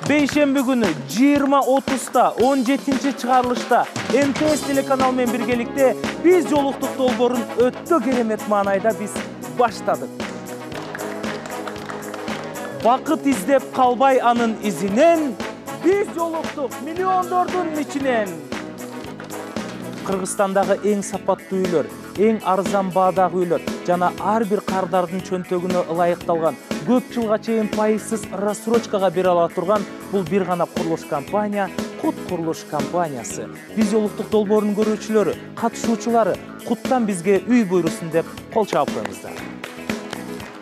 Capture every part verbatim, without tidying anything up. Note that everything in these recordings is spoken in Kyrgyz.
бейшемби күнү жыйырма отузда он жетинчи чыгарылышта эм тэ эс телеканалы менен биргеликте биз жолуктук долбоорун өтө керемет маанайда биз баштадык. Бакыт издеп калбай анын изинен, биз жолуктук миллиондордун ичинен. Кыргызстандагы эң сапаттуу үйлөр, эң арзан баадагы үйлөр жана ар бир кардардын чөнтөгүнө ылайыкталган, көп жылга чейин пайызсыз рассрочкага бере ала турган бул бир гана курулуш компания Кут курулуш компаниясы. Биз жолуктук долбоорунун көрүүчүлөрү, катышуучулары Куттан бизге үй буйрусун деп кол чаап коюңуздар.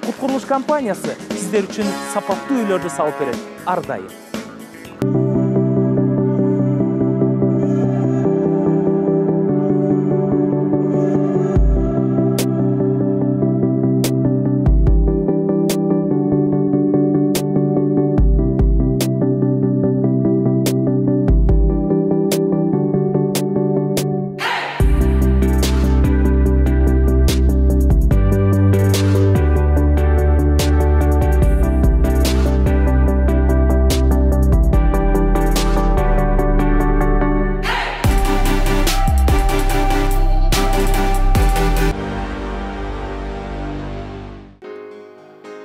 Кут курулуш компаниясы сиздер үчүн сапаттуу үйлөрдү салып берет ар дайым.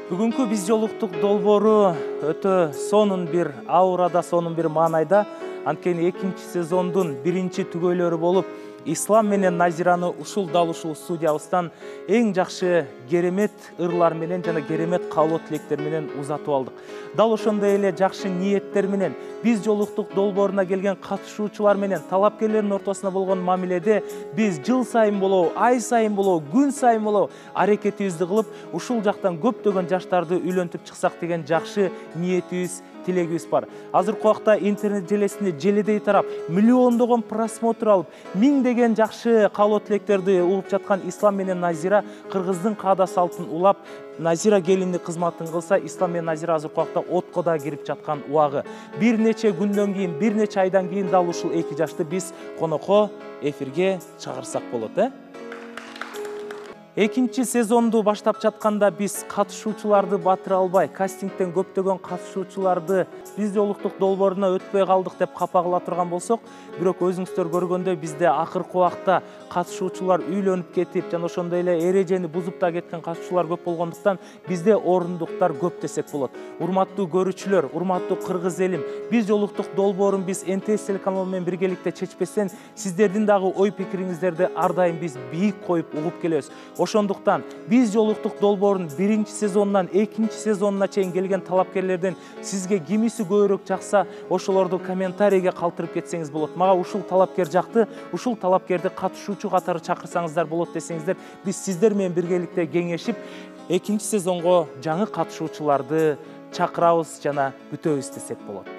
Бүгүнкү биз жолуктук долбоору өтө сонун бир аурада, сонун бир маанайда, анткени экинчи сезондун биринчи түгөйлөрү болуп, Ислам менен Назираны ушул дал ушул студиябыздан эң жакшы керемет ырлар менен жана керемет каалоо тилектер менен узатып алдык. Дал ошондой эле жакшы ниеттер менен биз жолуктук долбооруна келген катышуучулар менен талапкерлердин ортосуна болгон мамиледе биз жыл сайын болобу, ай сайын болобу, күн сайын болобу аракетибизди кылып, ушул жактан көптөгөн жаштарды үйлөнтүп чыксак деген жакшы ниетибиз, тилегибиз бар. Азыркы убакта интернет желесинде желедей тарап, миллиондогон просмотр алып, миңдеген жакшы каалоо тилектерди угуп жаткан Ислам менен Назира кыргыздын каада салтын улап, Назира келиндик кызматын кылса, Ислам менен Назира азыркы убакта отко да кирип жаткан убагы. Бир нече күндөн кийин, бир нече айдан кийин дал ушул эки жашты биз конокко эфирге чыгарсак болот, э? Экинчи сезонду баштап жатканда биз катышуучуларды батыра албай, кастингден көптөгөн катышуучуларды биз жолуктук долбооруна өтпөй калдык деп капа кыла турган болсок, бирок өзүңүздөр көргөндөй бизде акыркы убакта катышуучулар үйлөнүп кетип, жана ошондой эле эрежени бузуп да кеткен катышуучулар көп болгондуктан бизде орундуктар көп десек болот. Урматтуу көрүүчүлөр, урматтуу кыргыз элим, биз жолуктук долбоорун биз эм тэ эс телеканалы менен биргеликте чечпестен, сиздердин дагы ой пикириңиздерди ар дайым биз бийик коюп угуп келебиз. Ошондуктан биз жолуктук долбоорунун биринчи сезонунан экинчи сезонуна чейин келген талапкерлерден сизге кимиси көбүрөөк жакса, ошолорду комментарийге калтырып кетсеңиз болот. Мага ушул талапкер жакты, ушул талапкерди катышуучу катары чакырсаңыздар болот десеңиздер, биз сиздер менен биргеликте кеңешип, экинчи сезонго жаңы катышуучуларды чакырабыз жана күтөбүз десек болот.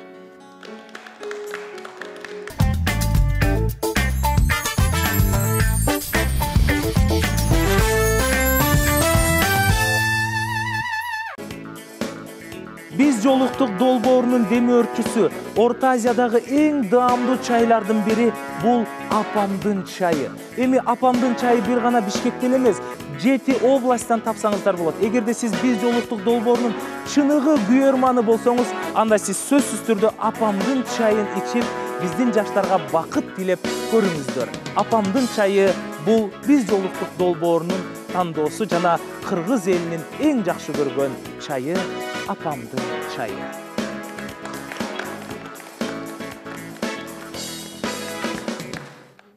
Биз жолуктук долбоорунун демөөрчүсү, Орто Азиядагы эң даамдуу чайлардын бири бул апамдын чайы. Эми апамдын чайы бир гана Бишкектен эмес, жети областтан тапсаңыздар болот. Эгерде сиз биз жолуктук долбоорунун чыныгы күйөрманы болсоңуз, анда сиз сөзсүз түрдө апамдын чайын ичип, биздин жаштарга бакыт тилеп көрүңүздөр. Апамдын чайы бул биз жолуктук долбоорунун тандоосу жана кыргыз элинин эң жакшы көргөн чайы апамдын чайы.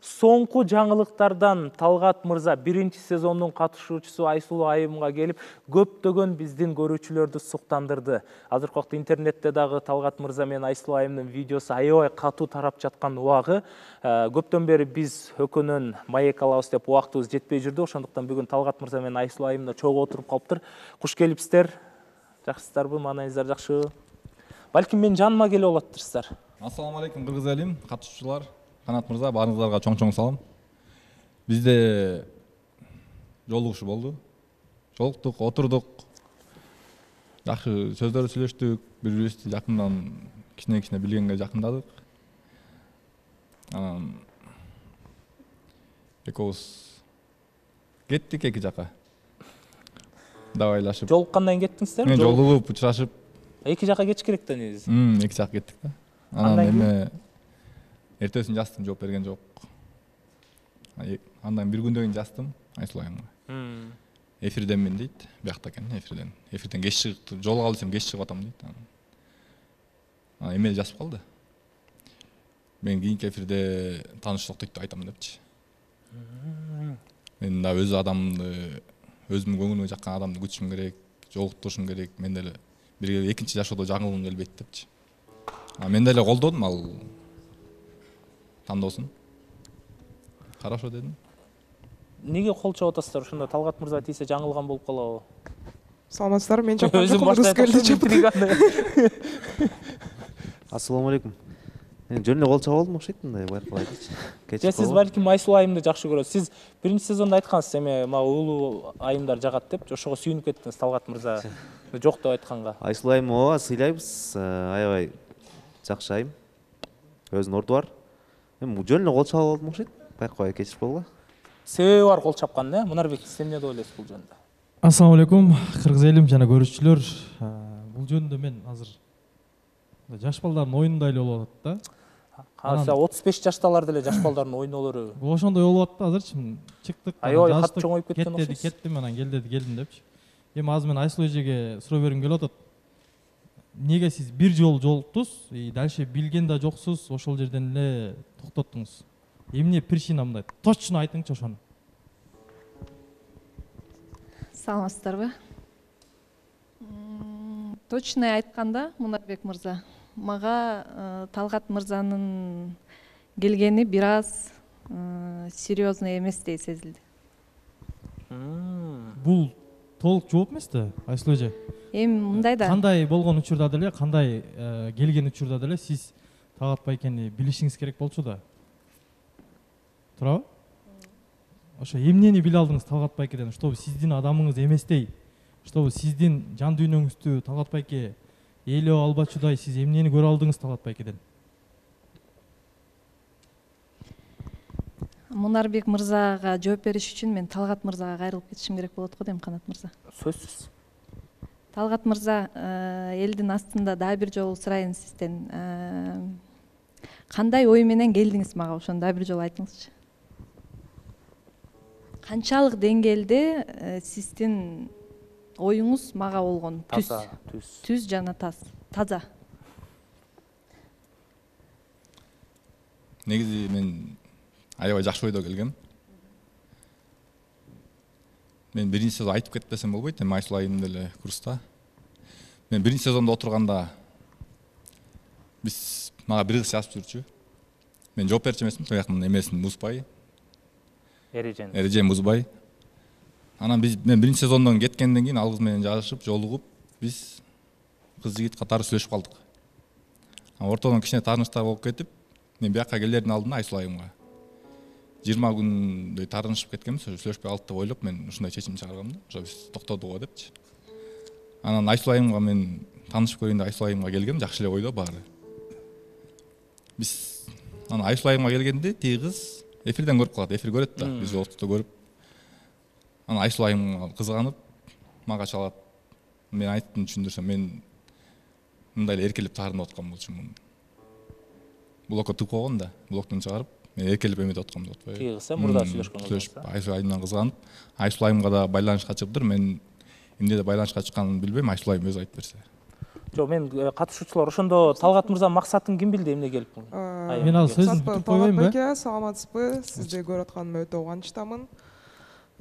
Соңку жаңылыктардан Талгат мырза биринчи сезондун катышуучусу Айсулуу айымга келип, көптөгөн биздин көрүүчүлөрдү суктандырды. Азыркы убакта интернетте дагы Талгат мырза менен Айсулуу айымдын видеосу аябай катуу тарап жаткан убагы. Көптөн бери биз өкөнөн маек алабыз деп убактыбыз жетпей жүрдү. Ошондуктан бүгүн Талгат мырза менен Айсулуу айым да чогуу отуруп калыптыр. Куш келипсиздер. Жакшысыздарбы? Маанайыңыздар жакшыбы? Балким менин жаныма келип алаттырсыздар. Ассаламу алейкум кыргыз элим, катышуучулар. Канат мырза, баарыңыздарга чоң-чоң салам. Бизде жолугушуу болду. Жолуктук, отурдук. Жакшы сөздөр сүйлөштүк, бири-бирибизди жакындан кичине-кичине билгенге жакындадык. Анан экөөбүз кеттик эки жака. Давайлашып. Жолуккандан кеттиңиздер? Мен жолугуп, учурашып Эки жака кетиш керек да негизи. Эки жака кеттик да. Анан эме эртесин жаздым, жооп берген жок. Андан бир күндөн кийин жаздым Айсулуу айымга. Эфирденмин дейт, биякта экен, эфирден. Эфирден кеч чыгып, жолуга калсам кеч чыгып атам дейт. Анан эмел жазып калды. Мен кийинки эфирде тааныштык деп айтам депчи. Мен да өз адамды, өзүмдүн көңүлүмө жаккан адамды күтүшүм керек, жолуктурушум керек. Мен деле бир экинчи жашоодо жаңылгым келбейт депчи. А мен деле колдодум ал тандоосун. Хорошо дедим. Неге кол чабып атасыздар? Ошондо Талгат мырза тийсе жаңылган болуп калабы? Саламатсыздарбы? Мен чапкан жокмун, рус келди чапты. Ассаламу алейкум. Мен жөн эле кол чаба алдым окшойт мындай байкалып айтычы. Же сиз балким Айсулуу айымды жакшы көрөсүз. Сиз биринчи сезондо айткансыз, эме мага уулуу айымдар жагат деп, ошого сүйүнүп кеттиңиз Талгат мырза жок деп айтканга. Айсулуу айым ооба сыйлайбыз, аябай жакшы айым. Өзүнүн орду бар. Мен жөн эле кол чабып алдым окшойт. Байкабай кечирип койгула. Себеби бар кол чапкандын, э? Мунарбек, сиз эмне деп ойлойсуз бул жөнүндө? Ассаламу алейкум, кыргыз элим жана көрүүчүлөр. Бул жөнүндө мен азыр жаш балдардын oyunундай эле болуп атат да. Кайсы отуз беш жашталар деле жаш балдардын ойнолору. Бул ошондой болуп атат да азырчы. Чыктык, Аябай кат чоңоюп кеткен окшойт. Кеттип, кеттим, анан кел деди, келдим депчи. Эми азыр мен Айсулуу эжеге суроо бергим келип атат. Неге сиз бир жолу жолуктуз, дальше билген да жоксуз, ошол жерден эле токтоттуңуз? Эмне причина мындай? Точно айтыңчы ошону. Саламатсыздарбы? Точно айтканда, Мунарбек мырза, мага Талгат мырзанын келгени бир аз серьезный эместей сезилди. Бул толук жооп эмес да, Айсулуу эже? Эми мындай да. Кандай болгон учурда деле, кандай келген учурда деле сиз Талгат байкени билишиңиз керек болчу да. Туурабы? Ошо эмнени биле алдыңыз Талгат байкеден, чтобы сиздин адамыңыз эместей, чтобы сиздин жан дүйнөңүздү Талгат байке ээлеп албачудай сиз эмнени көрө алдыңыз Талгат байкеден? Мунарбек мырзага жооп бериш үчүн мен Талгат мырзага кайрылып кетишим керек болот го дейм, Канат мырза. Сөзсүз. Талгат мырза, элдин астында дагы бир жолу сурайын сизден. Кандай ой менен келдиңиз мага, ошону дагы бир жолу айтыңызчы. Канчалык деңгээлде сиздин оюңуз мага болгон? Түз, түз жана таза. Негизи мен аябай жакшы ойдо келгем. Мен биринчи сезон айтып кетпесем болбойт, эми Айсулуу айым деле курста. Мен биринчи сезондо отурганда биз мага бир кыз жазып жүрчү. Мен жооп берчү эмесмин, тоякмын эмесин бузбай. Эрежен. Эрежен бузбай. Анан биз мен биринчи сезондон кеткенден кийин ал кыз менен жашып, жолугуп, биз кыз жигит катары сүйлөшүп калдык. Анан ортодон кичине тааныштар болуп кетип, мен бияка келердин алдында Айсулуу айымга жыйырма күндөй таарынышып кеткенбиз, сүйлөшпөй калдык деп ойлоп, мен ушундай чечим чыгаргам да, ошо биз токтодук го депчи. Анан Айсулуу айымга мен таанышып көрөйүн деп Айсулуу айымга келгем, жакшы эле ойдо баары. Биз анан Айсулуу айымга келгенде тиги кыз эфирден көрүп калат, эфир көрөт да, биз жолуктукта көрүп. Анан Айсулуу айымга кызганып, мага чалат. Мен айттым, түшүндүрсөм, мен мындай эле эркелеп таарынып аткан болчумун. Блокко тыгып койгон да, блоктон чыгарып, мен эркелеп эметип аткам деп атпайбы. Тиги кыз мурда сүйлөшкөн кыз. Айсулуу айымдан кызганып, Айсулуу айымга да байланышка чыгыптыр. Мен эмнеде байланышка чыкканын билбейм, Айсулуу айым өзү айтып берсе. Жок, мен катышуучулар ошондо Талгат мырза максатын ким билди, эмне келип? Мен азыр сөзүн бүтүп койбоймунбу? Талгат, саламатсызбы? Сизди көрүп атканыма өтө кубанычтамын.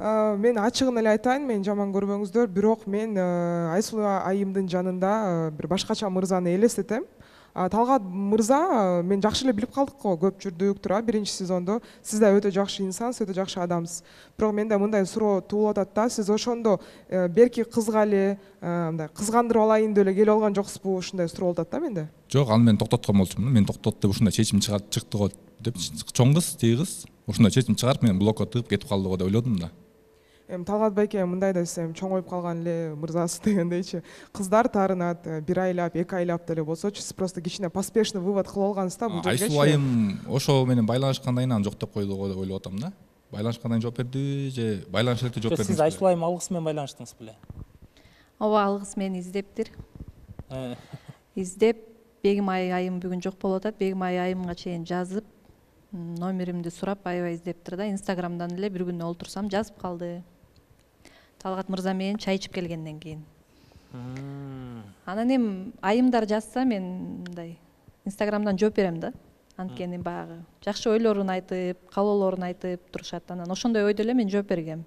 Мен ачыгын эле айтайын, мен жаман көрбөңүздөр, бирок мен Айсулуу айымдын жанында бир башкача мырзаны элестетем. Талгат мырза мен жакшы эле билип калдык го, көп жүрдүк, туура, биринчи сезондо. Сиз да өтө жакшы инсансыз, өтө жакшы адамсыз. Бирок менде мындай суроо туулуп атат да, сиз ошондо берки кызга эле мындай кызгандырып алайын деп эле келип алган жоксузбу? Ушундай суроо болуп атат да менде. Жок, аны мен токтоткон болчумун. Мен токтот деп ушундай чечим чыкты го деп, чоң кыз, тиги кыз ушундай чечим чыгарып, мен блокко тыгып кетип калды го деп ойлодум да. Эми Талгат байке мындай да десем, чоңоюп калган эле мырзасы дегендейчи. Кыздар таарынат бир айлап, эки айлап деле болсочу, сиз просто кичине поспешный вывод кылып алгансыз да бул жерге. Айсулуу айым ошо менен байланышкандан кийин аны жок деп койду го деп ойлоп атам да. Байланышкандан кийин жооп берди же байланыш электе жооп берди? Сиз Айсулуу айым алгысы менен байланыштыңыз беле? Ооба, алгысы менен издептир. издеп Бегим айым бүгүн жок болуп атат, Бегим айымга чейин жазып, номеримди сурап аябай издептир да. Инстаграмдан эле бир күнү олтурсам жазып калды. Талгат мырза менен чай ичип келгенден кийин. Анан эми айымдар жазса мен мындай Инстаграмдан жооп берем да. Анткени баягы жакшы ойлорун айтып, каалоолорун айтып турушат. Анан ошондой ойдо эле мен жооп бергем.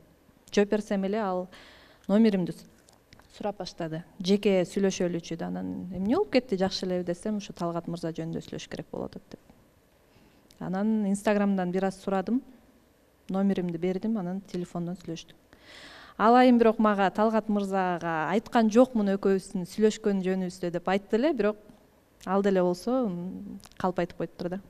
Жооп берсем эле ал номеримди сурап баштады. Жеке сүйлөшөлүчү да. Анан эмне болуп кетти, жакшы элеби десем, ушу Талгат мырза жөнүндө сүйлөшүш керек болуп атат деп. Анан Инстаграмдан бир аз сурадым, номеримди бердим, анан телефондон сүйлөштүк. Ал айым бирок мага Талгат мырзага айткан жокмун экөөбүздүн сүйлөшкөн жөнүбүздө деп айтты эле, бирок ал деле болсо калп айтып коюптур да.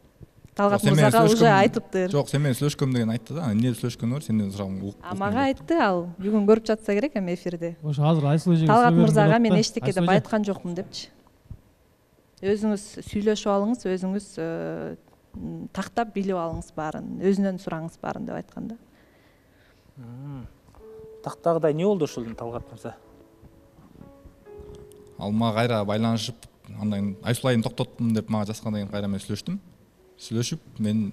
Талгат мырзага уже айтыптыр. Жок, сен менен сүйлөшкөм деген айтты да. Эмне сүйлөшкөнү бар, сенден сурагым. А мага айтты ал, бүгүн көрүп жатса керек эми эфирде. Ошо азыр Айсул эжеге Талгат мырзага мен эчтеке деп айткан жокмун депчи. Өзүңүз сүйлөшүп алыңыз, өзүңүз тактап билип алыңыз баарын, өзүнөн сураңыз баарын деп айткан да. Тактагыдай эмне болду ушул Талгат мырза? Ал мага кайра байланышып, андан Айсул айым токтоттум деп мага жазгандан кийин кайра мен сүйлөштүм. Сүйлөшүп, мен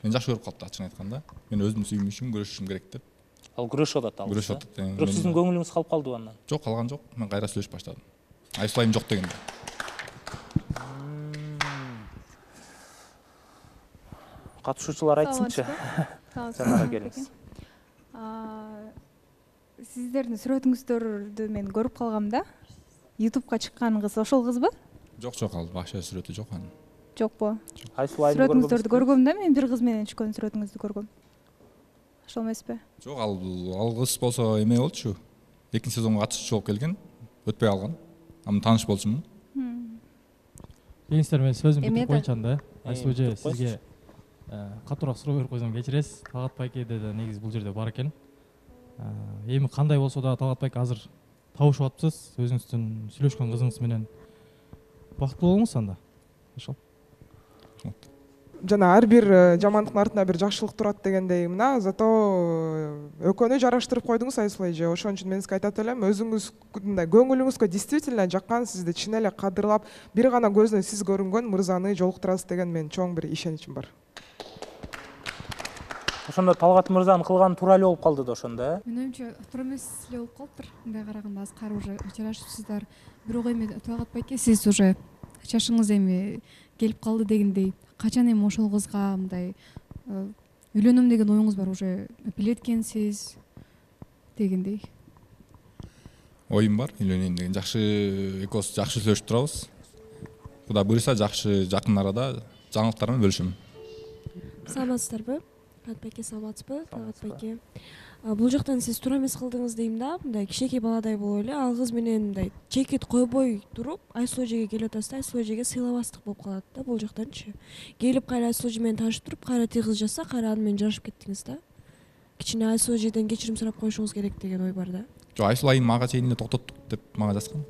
мен жакшы көрүп калды, ачыгын айтканда. Мен өзүм сүймүшүм, көрүшүшүм керек деп. Ал күрөшүп атат ал. Күрөшүп атат. Бирок сиздин көңүлүңүз калып калдыбы андан? Жок, калган жок. Мен кайра сүйлөшүп баштадым. Айсул айым жок дегенде. Катышуучулар айтсынчы. Жанара келиңиз. Сиздердин сүрөтүңүздөрдү мен көрүп калгам да. ютубка чыккан кыз ошол кызбы? Жок, жок, ал башка сүрөтү жок анын. Жокпу? Айсул айым сүрөтүңүздөрдү көргөм да, мен бир кыз менен чыккан сүрөтүңүздү көргөм. Ошол эмеспи? Жок, ал ал кыз болсо эме болчу. Экинчи сезонго катышчу болуп келген, өтпөй алган. Аны тааныш болчумун. Кеңиштер, мен сөзүмдү бүтүп коюнчу анда. Айсул эже, сизге катуураак суроо берип койсом кечиресиз. Талгат байкеде да негизи бул жерде бар экен. Эми кандай болсо да Талгат байке азыр табышып атпсыз, өзүңүздүн сүйлөшкөн кызыңыз менен бактылуу болуңуз анда. Ошол. Жана ар бир жамандыктын артында бир жакшылык турат дегендей мына, зато экөөнү жараштырып койдуңуз Айсул эже. Ошон үчүн мен сизге айтат элем, өзүңүз мындай көңүлүңүзгө действительно жаккан, сизди чын эле кадырлап, бир гана көзүнө сиз көрүнгөн мырзаны жолуктурасыз деген мен чоң бир ишеничим бар. Ошондо Талгат мырзанын кылганы туура эле болуп калды да ошондо, э? Менин оюмча туура эмес эле болуп калыптыр. Мындай караганда азкары уже жарашыпсыздар. Бирок эми Талгат байке, сиз уже чашыңыз эми келип калды дегендей, качан эми ошол кызга мындай үйлөнөм деген оюңуз бар, уже билеткенсиз дегендей? Оюм бар, үйлөнөйүн деген. Жакшы, экөөбүз жакшы сүйлөшүп турабыз. Кудай буйруса жакшы жакын арада жаңылыктар менен бөлүшөм. Саламатсыздарбы? Талгат байке, саламатсызбы? Талгат байке. Бул жактан сиз туура эмес кылдыңыз дейм да. Мындай кичинекей баладай болуп эле ал кыз менен мындай чекит койбой туруп, Айсул эжеге келип атасыз да, Айсул эжеге сыйлабастык болуп калат да бул жактанчы. Келип кайра Айсул эже менен таанышып туруп, кайра тиги кыз жазса, кайра аны менен жарашып кеттиңиз да. Кичине Айсул эжеден кечирим сурап коюшуңуз керек деген ой бар да. Жок, Айсул айым ага чейин эле токтоттук деп мага жазган.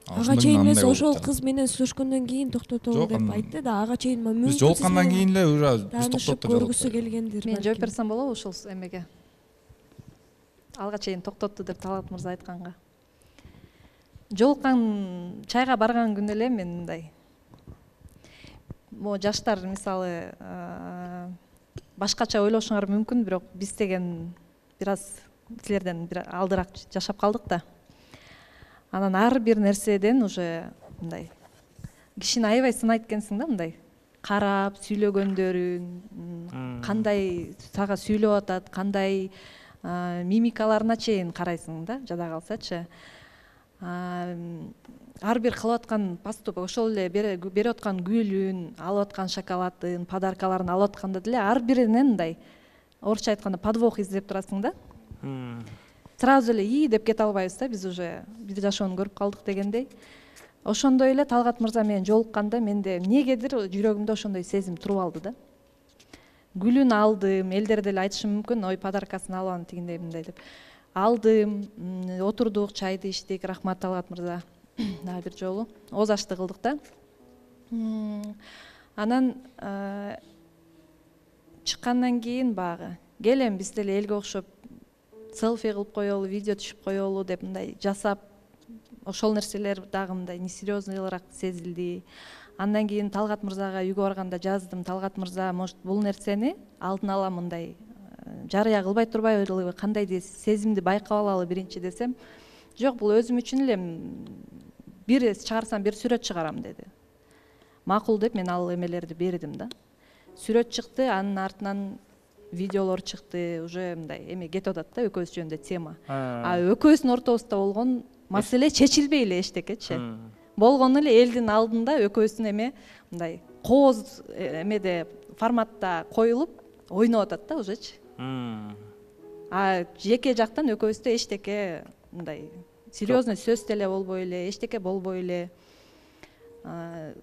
Ага чейин эмес, ошол кыз менен сүйлөшкөндөн кийин токтотолу деп айтты да. Ага чейин мүмкүн биз жолуккандан кийин эле уже биз токтоттук деп көргүсү келгендир. Мен жооп берсем болобу ушул эмеге? Алга чейин токтотту деп Талгат мырза айтканга. Жолуккан чайга барган күнү эле мен мындай могу жаштар мисалы башкача ойлошуңар мүмкүн, бирок биз деген бир аз силерден бир алдыраак жашап калдык да. Анан ар бир нерседен уже мындай кишини аябай сынайт экенсиң да, мындай карап сүйлөгөндөрүн, кандай сага сүйлөп атат, кандай мимикаларына чейин карайсың да, жада калсачы. Ар бир кылып аткан поступок, ошол эле берип аткан гүлүн, алып аткан шоколадын, подаркаларын алып атканда деле ар биринен мындай орусча айтканда подвох издеп турасың да. Сразу эле и деп кете албайбыз да, биз уже бир жашоону көрүп калдык дегендей. Ошондой эле Талгат мырза менен жолукканда менде эмнегедир жүрөгүмдө ошондой сезим туруп алды да. Гүлүн алдым, элдер деле айтышы мүмкүн, ой подаркасын алып аны тигиндей мындай деп. Алдым, отурдук, чайды ичтик, рахмат Талгат мырза. Дагы бир жолу ооз ашты кылдык да. Анан чыккандан кийин багы келем биз деле элге окшоп селфи кылып коелу, видео түшүп коелу деп мындай жасап ошол нерселер дагы мындай несерьезныйраак сезилди. Андан кийин Талгат мырзага үйгө барганда жаздым: Талгат мырза, может бул нерсени алдын ала мындай жарыя кылбай турбайлыбы, кандайдыр сезимди байкап алалы биринчи десем, жок, бул өзүм үчүн эле бир чыгарсам бир сүрөт чыгарам деди. Макул деп мен ал эмелерди бердим да. Сүрөт чыкты, анын артынан видеолор чыкты, уже мындай эме кетип атат да, экөөбүз жөнүндө тема. А экөөбүздүн ортобузда болгон маселе чечилбей эле эчтекечи. Болгону эле элдин алдында экөөбүздүн эме мындай кооз эмеде форматта коюлуп ойноп атат да ужечи. А жеке жактан экөөбүздө эчтеке мындай серьезный сөз деле болбой эле, эчтеке болбой эле.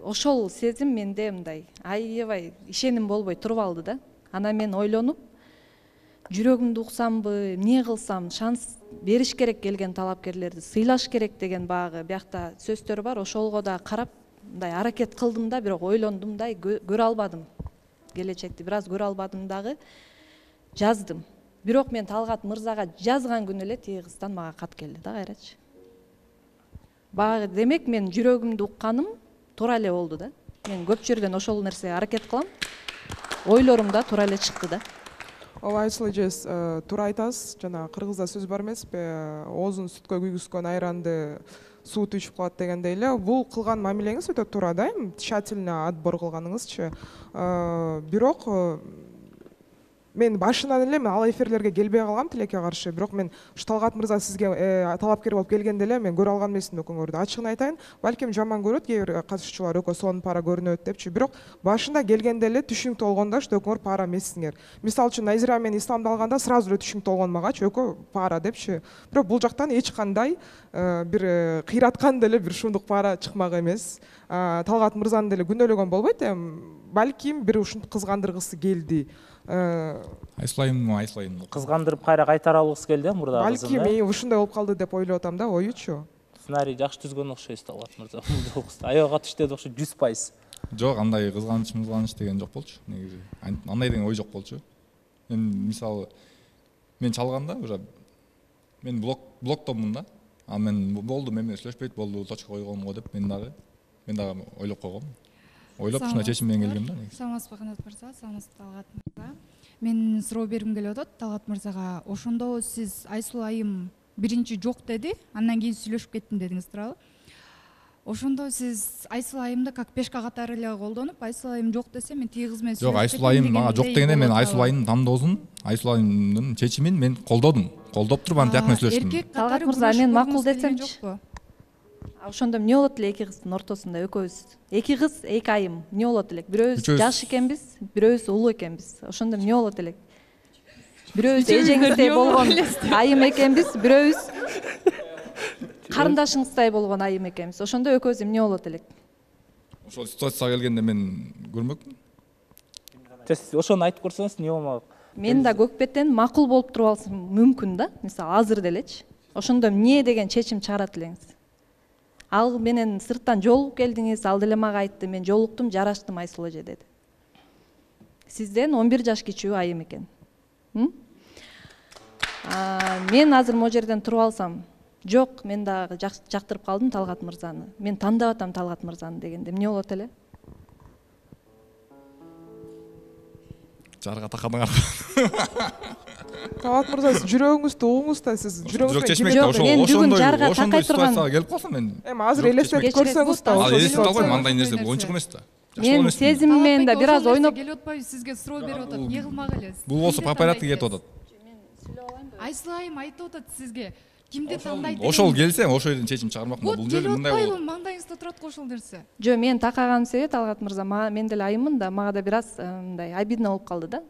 Ошол сезим менде мындай аябай ишеним болбой туруп алды да. Анан мен ойлонуп, жүрөгүмдү уксамбы, эмне кылсам, шанс бериш керек келген талапкерлерди, сыйлаш керек деген багы биякта сөздөр бар. Ошолго да карап мындай аракет кылдым да, бирок ойлондум да, көрө албадым. Келечекти бир аз көрө албадым дагы. Жаздым. Бирок мен Талгат мырзага жазган күнү эле тиги кыздан мага кат келди да кайрачы. Багы демек мен жүрөгүмдү укканым туура эле болду да. Мен көп жерден ошол нерсеге аракет кылам. Ойлорум да туура эле чыкты да. Ооба, Айсул эжес, туура айтасыз. Жана кыргызда сөз бар эмеспи, оозун сүткө күйгүзгөн айранды суут ичип калат дегендей эле. Бул кылган мамилеңиз өтө туура да, тщательно отбор кылганыңызчы. Бирок мен башынан эле мен ал эфирлерге келбей калгам тилекке каршы. Бирок мен ушу Талгат мырза сизге талапкер болуп келгенде эле мен көрө алган эмесмин экөөңөрдү. Ачыгын айтайын, балким жаман көрөт кээ бир катышуучулар экөө сонун пара көрүнөт депчи. Бирок башында келгенде эле түшүнүктүү болгондо ушу экөөңөр пара эмессиңер. Мисалы үчүн Назира менен исламды алганда сразу эле түшүнүктүү болгон магачы экөө пара депчи. Бирок бул жактан эч кандай бир кыйраткан деле бир шундук пара чыкмак эмес. Талгат мырзаны деле күнөөлөгөн болбойт эми. Балким бир ушинтип кызгандыргысы келди. Айсулайым, айсулайым. Кызгандырып кайра кайтара алгысы келди мурда кызын. Балким мен ушундай болуп калды деп ойлоп атам да, оючу. Сценарий жакшы түзгөн окшойсуз Талгат мырза. Аябай катыш деди окшойт, жүз пайыз. Жок, андай кызганыч, кызганыч деген жок болчу. Негизи андай деген ой жок болчу. Мен мисалы мен чалганда уже мен блок блоктомун да. А мен болду, мен менен сүйлөшпөйт болду, точка койгон го деп мен дагы мен дагы ойлоп койгом. Ойлоп ушундай чечим менен келгем да. Саламатсызбы Канат мырза, саламатсызбы Талгат мырза. Мен суроо бергим келип атат Талгат мырзага. Ошондо сиз Айсул айым биринчи жок деди, андан кийин сүйлөшүп кеттим дедиңиз, туурабы? Ошондо сиз Айсул айымды как пешка катары эле колдонуп, Айсул айым жок десе мен тиги кыз менен сүйлөшүп кеттим. Жок, Айсул айым мага жок дегенде мен Айсул айымдын тандоосун, Айсул айымдын чечимин мен колдодум. Колдоп туруп антияк менен сүйлөштүм. Талгат мырза, мен макул десемчи. Ошондо эмне болот эле эки кыздын ортосунда экөөбүз? Эки кыз, эки айым. Эмне болот элек? Бирөөбүз жаш экенбиз, бирөөбүз улуу экенбиз. Ошондо эмне болот элек? Бирөөбүз эжеңиздей болгон айым экенбиз, бирөөбүз карындашыңыздай болгон айым экенбиз. Ошондо экөөбүз эмне болот элек? Ошол ситуацияга келгенде мен көрмөкмүн. Ошону айтып көрсөңүз эмне болмок? Мен да көкпеттен макул болуп туруп алсам мүмкүн да. Мисалы азыр делечи. Ошондо эмне деген чечим чыгарат элеңиз? Ал менен сырттан жолугуп келдиңиз, ал деле мага айтты, мен жолуктум, жараштым Айсул эже деди. Сизден он бир жаш кичүү айым экен. Мен азыр могу жерден туруп алсам, жок, мен дагы жактырып калдым Талгат мырзаны. Мен тандап атам Талгат мырзаны дегенде эмне болот эле? Жарга такадыңар. Талгат мырза, сиз жүрөгүңүздү угуңуз да, сиз жүрөгүңүз менен ошондой ошондой ситуацияга келип калсам мен. Эми азыр элестетип көрсөңүз да. Ал элестетип албайм, андай нерсе оюнчук эмес да. Мен сезимим менен да бир аз ойноп келип атпайбы, сизге суроо берип атат, эмне кылмак элесиз? Бул болсо по порядку кетип атат. Айсул айым айтып атат сизге, кимди тандайт? Ошол келсе, ошол жерден чечим чыгармакмын. Бул жерде мындай болот. Маңдайыңызда турат го ошол нерсе. Жок, мен такаганым себеби Талгат мырза, мен деле айыммын да, мага да бир аз мындай обидно болуп калды да.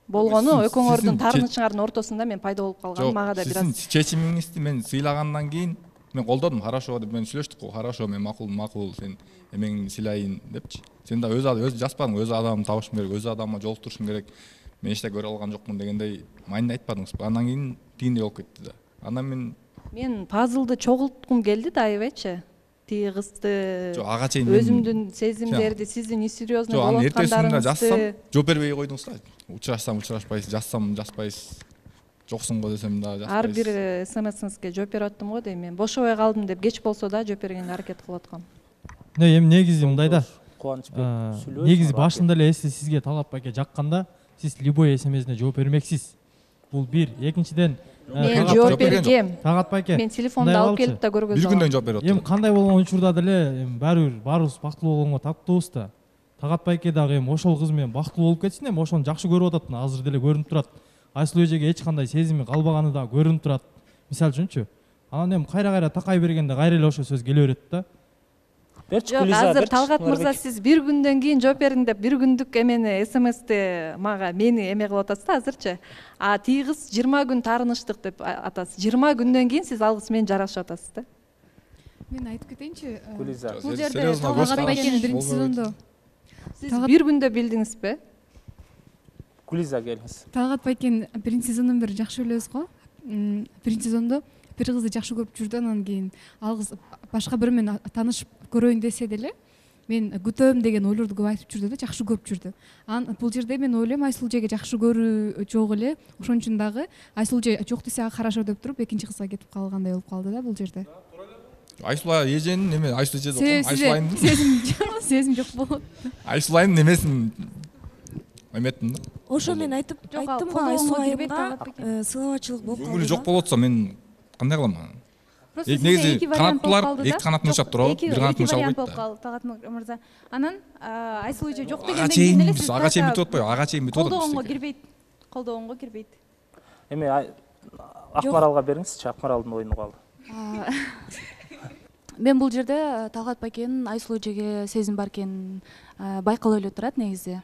Болгону экөөңөрдүн таарынычыңардын ортосунда мен пайда болуп калган, мага да бир аз. Сиздин чечимиңизди мен сыйлагандан кийин мен колдодум, хорошо деп мен сүйлөштүк го, хорошо, мен макул, макул, сен эмеңди сыйлайын депчи. Сен да өз өз жазбадың, өз адамды табышым керек, өз адамга жолуктурушум керек. Мен эчте көрө алган жокмун дегендей майында айтпадыңыз. Андан кийин тигиндей болуп кетти да. Андан мен мен пазлды чогулткум келди да, аябайчы. Тиги кызды, ага чейин өзүмдүн сезимдерди, сиздин несерьезный болуп аткандарыңызды жазсам, жооп бербей койдуңуз да. Учурашсам, учурашпайсыз, жазсам, жазбайсыз. жоксуң го десем дагы ар жатпайсыз. бир смсиңизге жооп берип аттым го дейм. Мен бошобой калдым деп кеч болсо да жооп бергенге аракет кылып аткам. Эми негизи мындай да. Кубанычбек сүйлөсүң. Негизи башында эле эси сизге Талгат байке жакканда сиз любой смсине жооп бермексиз. Бул бир. Экинчиден Мен жооп бергем. Талгат байке. Мен телефонду алып келип да көргөздүм. Бир күндөн жооп берип Эми атам. кандай болгон учурда деле эми баары бир баарыбыз бактылуу болгонго таптуубуз да. Талгат байке дагы эми ошол кыз менен бактылуу болуп кетсин, эми ошону жакшы көрүп атат, азыр деле көрүнүп турат. Айсулуу эжеге эч кандай сезими калбаганы да көрүнүп турат. Мисалы үчүнчү. Анан эми кайра-кайра такай бергенде кайра эле ошо сөз келе берет да. Жок, азыр Талгат мырза сиз бир күндөн кийин жооп бердиң деп бир күндүк эмени смсти мага мени эме кылып атасыз да азырчы. А тиги кыз жыйырма күн таарыныштык деп атасыз. жыйырма күндөн кийин сиз ал кыз менен жарашып атасыз да. Мен айтып кетейинчи. Гүлиза. Бул жерде Талгат байкенин биринчи сезондо Сиз бир күндө билдиңизби? Гүлиза келиңиз. Талгат байкен биринчи сезондон бери жакшы билебиз го. Биринчи сезондо бир кызды жакшы көрүп жүрдү, анан кийин ал кыз башка бирөө менен таанышып көрөйүн десе деле мен күтөм деген ойлорду көп айтып жүрдү да, жакшы көрүп жүрдү. Анан бул жерде мен ойлойм Айсулуу эжеге жакшы көрүү жок эле, ошон үчүн дагы Айсулуу эже жок десе а хорошо деп туруп экинчи кызга кетип калгандай болуп калды да бул жерде. Айсулуу эженин эме Айсулуу эже деп Айсулуу айымдын сезим сезим жок болот. Айсулуу айымдын эмесин эметтим да. Ошо мен айтып айттым го Айсулуу айымга сыйлабачылык болуп калды. Көңүлү жок болуп атса мен кандай кылам анан? Негизи канаттуулар эки канатын учап турабы? Бир канатын учап койт да. Талгат мырза. Анан Айсулуу эже жок дегенден кийин эле сиз ага чейин бүтүп атпайбы? Ага чейин бүтүп атат. Колдогонго кирбейт. Колдогонго кирбейт. Эми Акмаралга бериңизчи, Акмаралдын оюну калды. Мен бул жерде Талгат байкенин Айсулуу эжеге сезим бар экенин байкалып эле турат негизи.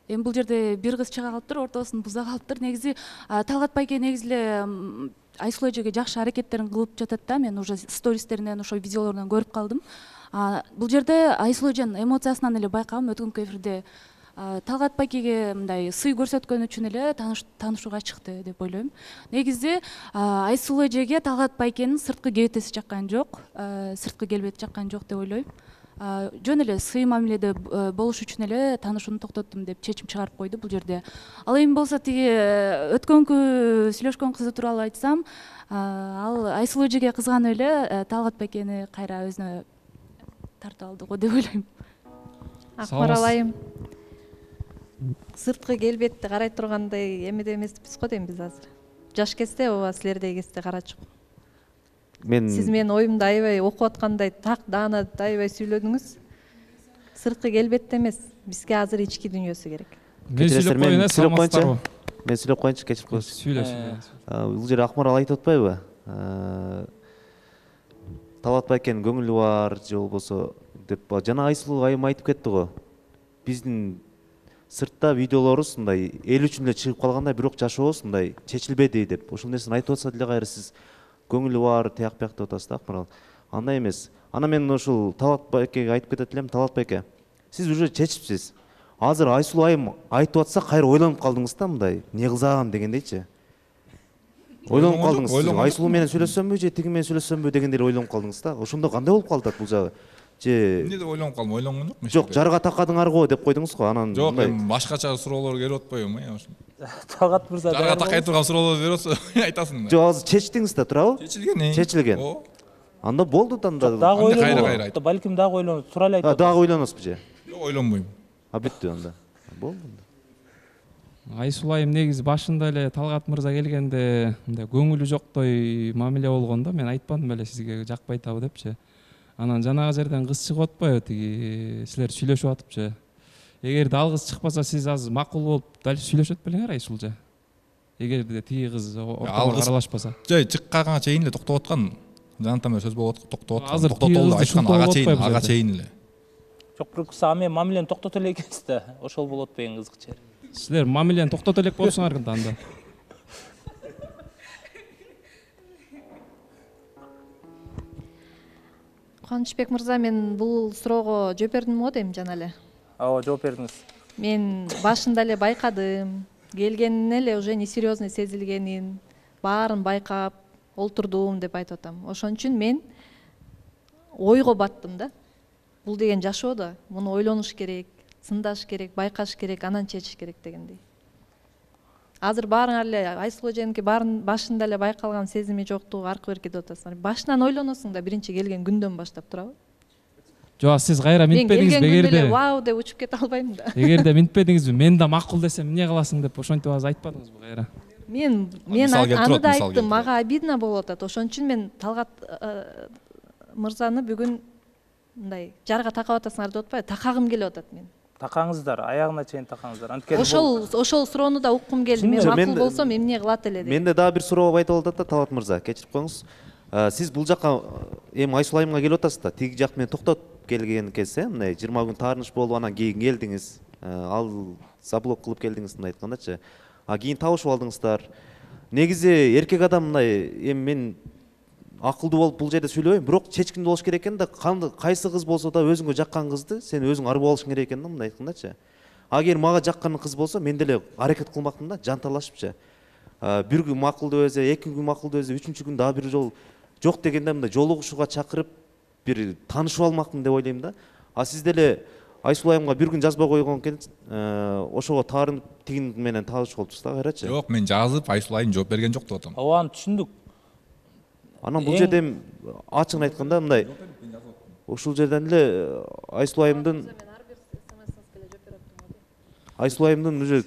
Эми бул жерде бир кыз чыга калыптыр, ортосун буза калыптыр. Негизи Талгат байке негизи эле Айсулуу эжеге жакшы аракеттерин кылып жатат да. Мен уже стористеринен, ошо видеолорунан көрүп калдым. Бул жерде Айсулуу эженин эмоциясынан эле байкагам өткөнкү эфирде Талгат байкеге мындай сый көрсөткөн үчүн эле таанышууга чыкты деп ойлойм. Негизи Айсулуу эжеге Талгат байкенин сырткы кебетеси жаккан жок, сырткы келбети жаккан жок деп ойлойм. Жөн эле сый мамиледе болуш үчүн эле таанышууну токтоттум деп чечим чыгарып койду бул жерде. Ал эми болсо тиги өткөнкү сүйлөшкөн кызы тууралуу айтсам, ал Айсулуу эжеге кызганып эле Талгат байкени кайра өзүнө тартып алды го деп ойлойм. Акмарал айым. Сырткы келбетти карай тургандай эмеде эмеспиз го дейм биз азыр. Жаш кезде ооба силердей кезде карачук. Мен Сиз менин оюмду аябай окуп аткандай так даанат аябай сүйлөдүңүз. Сырткы келбетте эмес, бизге азыр ички дүйнөсү керек. Мен сүйлөп коеюн, сүйлөп коеюнчу. Мен сүйлөп коеюнчу, кечирип коесуз. Сүйлөшүн. Бул жерде Акмарал айтып атпайбы? Талгат байкенин көңүлү бар же болбосо деп жана Айсулуу айым айтып кетти го. Биздин сыртта видеолорубуз мындай эл үчүн эле чыгып калгандай, бирок жашообуз мындай чечилбеди деп. Ошол нерсени айтып атса деле кайра сиз көңүлү бар, тияк бияк деп атасыз да Акмарал. Андай эмес. Ана мен ушул Талгат байкеге айтып кетет элем, Талгат байке, сиз уже чечипсиз. Азыр Айсулуу айым айтып атса кайра ойлонуп калдыңыз да мындай, эмне кылсам дегендейчи. Ойлонуп калдыңыз. Айсулуу менен сүйлөшсөмбү же тиги менен сүйлөшсөмбү дегендей ойлонуп калдыңыз да. Ошондо кандай болуп калды бул жагы? Же эмне деп ойлонуп калдым, ойлонгон жокмун. Жок, жарга такадыңар го деп койдуңуз го. Анан жок, эми башкача суроолор келип атпайбы эми? Талгат мырза жарга такай турган суроолор берип атса айтасың да. Жок, азыр чечтиңиз да, туурабы? Чечилген. Чечилген. Анда болду да анда. Дагы ойлонуп, балким дагы ойлонуп, тура эле айтып. Дагы ойлоносузбу же? Жок, ойлонбойм. А бүттү анда. Болду. Айсулуу айым негизи башында эле Талгат мырза келгенде мындай көңүлү жоктой мамиле болгон да, мен айтпадым беле сизге жакпайт абы депчи. Анан жанагы жерден кыз чыгып атпайбы, тиги силер сүйлөшүп атыпчы. Эгерде ал кыз чыкпаса сиз азыр макул болуп дальше сүйлөшөт белеңер Айсулуу эже. Эгерде тиги кыз ортого аралашпаса. Жай чыкканга чейин эле токтоп аткан. Жанатан менен сөз болуп аткан, токтоп аткан. Азыр токтотолду айткан ага чейин, ага чейин эле. Жок, бирок сиз ами мамилени токтото эле экенсиз да. Ошол болот бейин кызык жери. Силер мамилени токтото элек болсуңар да анда. Кубанычбек мырза, мен бул суроого жооп бердим го дейм жана эле. Ооба, жооп бердиңиз. Мен башында эле байкадым, келгенинен эле уже несерьезный сезилгенин, баарын байкап олтурдум деп айтып атам. Ошон үчүн мен ойго баттым да. Бул деген жашоо да, муну ойлонуш керек, сындаш керек, байкаш керек, анан чечиш керек дегендей. азыр баарыңар эле Айсулуу эженики баарын башында эле байкалган сезими жоктугу аркы берки деп атасыңар. Башынан ойлоносуң да биринчи келген күндөн баштап турабы? Жок, сиз кайра минтпедиңизби? Мен келген күндө эле Эгерде вау деп учуп кете албайм да. эгерде минтпедиңизби, мен да макул десем эмне кыласың деп ошентип азыр айтпадыңызбы кайра? Мен мен аны да айттым, мага обидно болуп атат. Ошон үчүн мен Талгат мырзаны бүгүн мындай жарга такап атасыңар деп атпайбы, такагым келип атат мен. Такаңыздар, аягына чейин такаңыздар. Анткени ошол ошол суроону да уккум келди. Мен макул болсом эмне кылат эле деп. Менде дагы бир суроо айтып атат да Талгат мырза, кечирип коюңуз. Сиз бул жакка эми Айсулуу айымга келип атасыз да, тиги жак менен токтоп келген кезде, мындай жыйырма күн таарыныш болуп анан кийин келдиңиз, ал заблок кылып келдиңиз мындай айткандачы. А кийин табышып алдыңыздар. Негизи эркек адам мындай, эми мен акылдуу болуп бул жерде сүйлөбөйм, бирок чечкиндүү болуш керек экен да, кайсы кыз болсо да өзүңө жаккан кызды сен өзүң арбап алышың керек экен да, мындай айткандачы. Агер мага жаккан кыз болсо, мен деле аракет кылмакмын да, жанталашыпчы. Бир күн макулдуу өзү, эки күн макулдуу өзү, үчүнчү күн дагы бир жол жок дегенде мындай жолугушууга чакырып бир таанышып алмакмын деп ойлойм да. А сиз деле Айсулуу айымга бир күн жазбай койгон экен, ошого таарынып тигин менен таанышып калыпсыз да, кайрачы? Жок, мен жазып, Айсулуу айым жооп берген жок деп атам. Ооба, аны түшүндүк. Анан бул жерде ачыгын айтканда мындай ушул жерден эле Айсулуу айымдын Айсулуу айымдын уже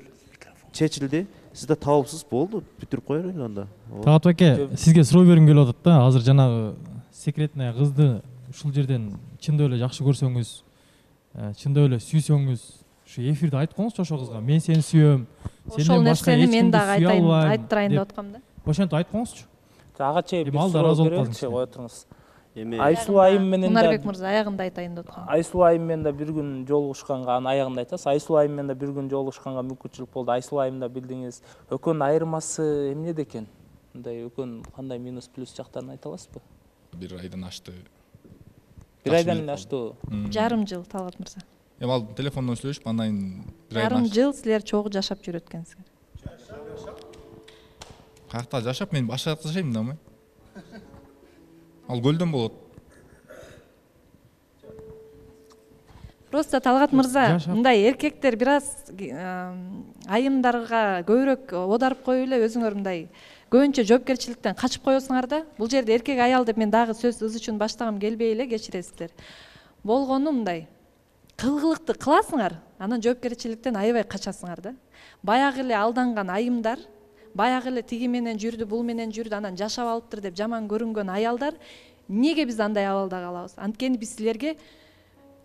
чечилди. Сиз да табылыпсыз, болду, бүтүрүп кое берели анда. Талгат байке, сизге суроо бергим келип атат да. Азыр жанагы секретный кызды ушул жерден чындап эле жакшы көрсөңүз, чындап эле сүйсөңүз, ушу эфирде айтып коюңузчу ошол кызга. Мен сени сүйөм. Ошол нерсени мен дагы айтайын, айттырайын деп аткам да. Ошентип айтып коюңузчу. Ага чейин бир суроо береличи, кое туруңуз. Айсулуу айым менен да Мунарбек мырза аягында айтайын деп аткам. Айсулуу айым менен да бир күн жолугушканга, анын аягында айтасыз. Айсулуу айым менен да бир күн жолугушканга мүмкүнчүлүк болду. Айсулуу айым да билдиңиз. Экөөнүн айырмасы эмнеде экен? Мындай экөөнүн кандай минус плюс жактарын айта аласызбы? Бир айдан ашты. Бир айдан ашты. Жарым жыл Талгат мырза. Эми ал телефондон сүйлөшүп, андан кийин бир айдан Жарым жыл силер чогуу жашап жүрөт экенсиңер. Каякта жашап, мен башка жакта жашайм да, ма? Ал көлдөн болот. Просто Талгат мырза, мындай эркектер бир аз айымдарга көбүрөөк одарып коюп эле өзүңөр мындай көбүнчө жоопкерчиликтен качып коесуңар да. Бул жерде эркек аял деп мен дагы сөз ыз үчүн баштагым келбей эле, кечиресиздер. Болгону мындай кылгылыкты кыласыңар, анан жоопкерчиликтен аябай качасыңар да. Баягы эле алданган айымдар, баягы эле тиги менен жүрдү, бул менен жүрдү, анан жашап алыптыр деп жаман көрүнгөн аялдар, эмнеге биз андай абалда калабыз? Анткени биз силерге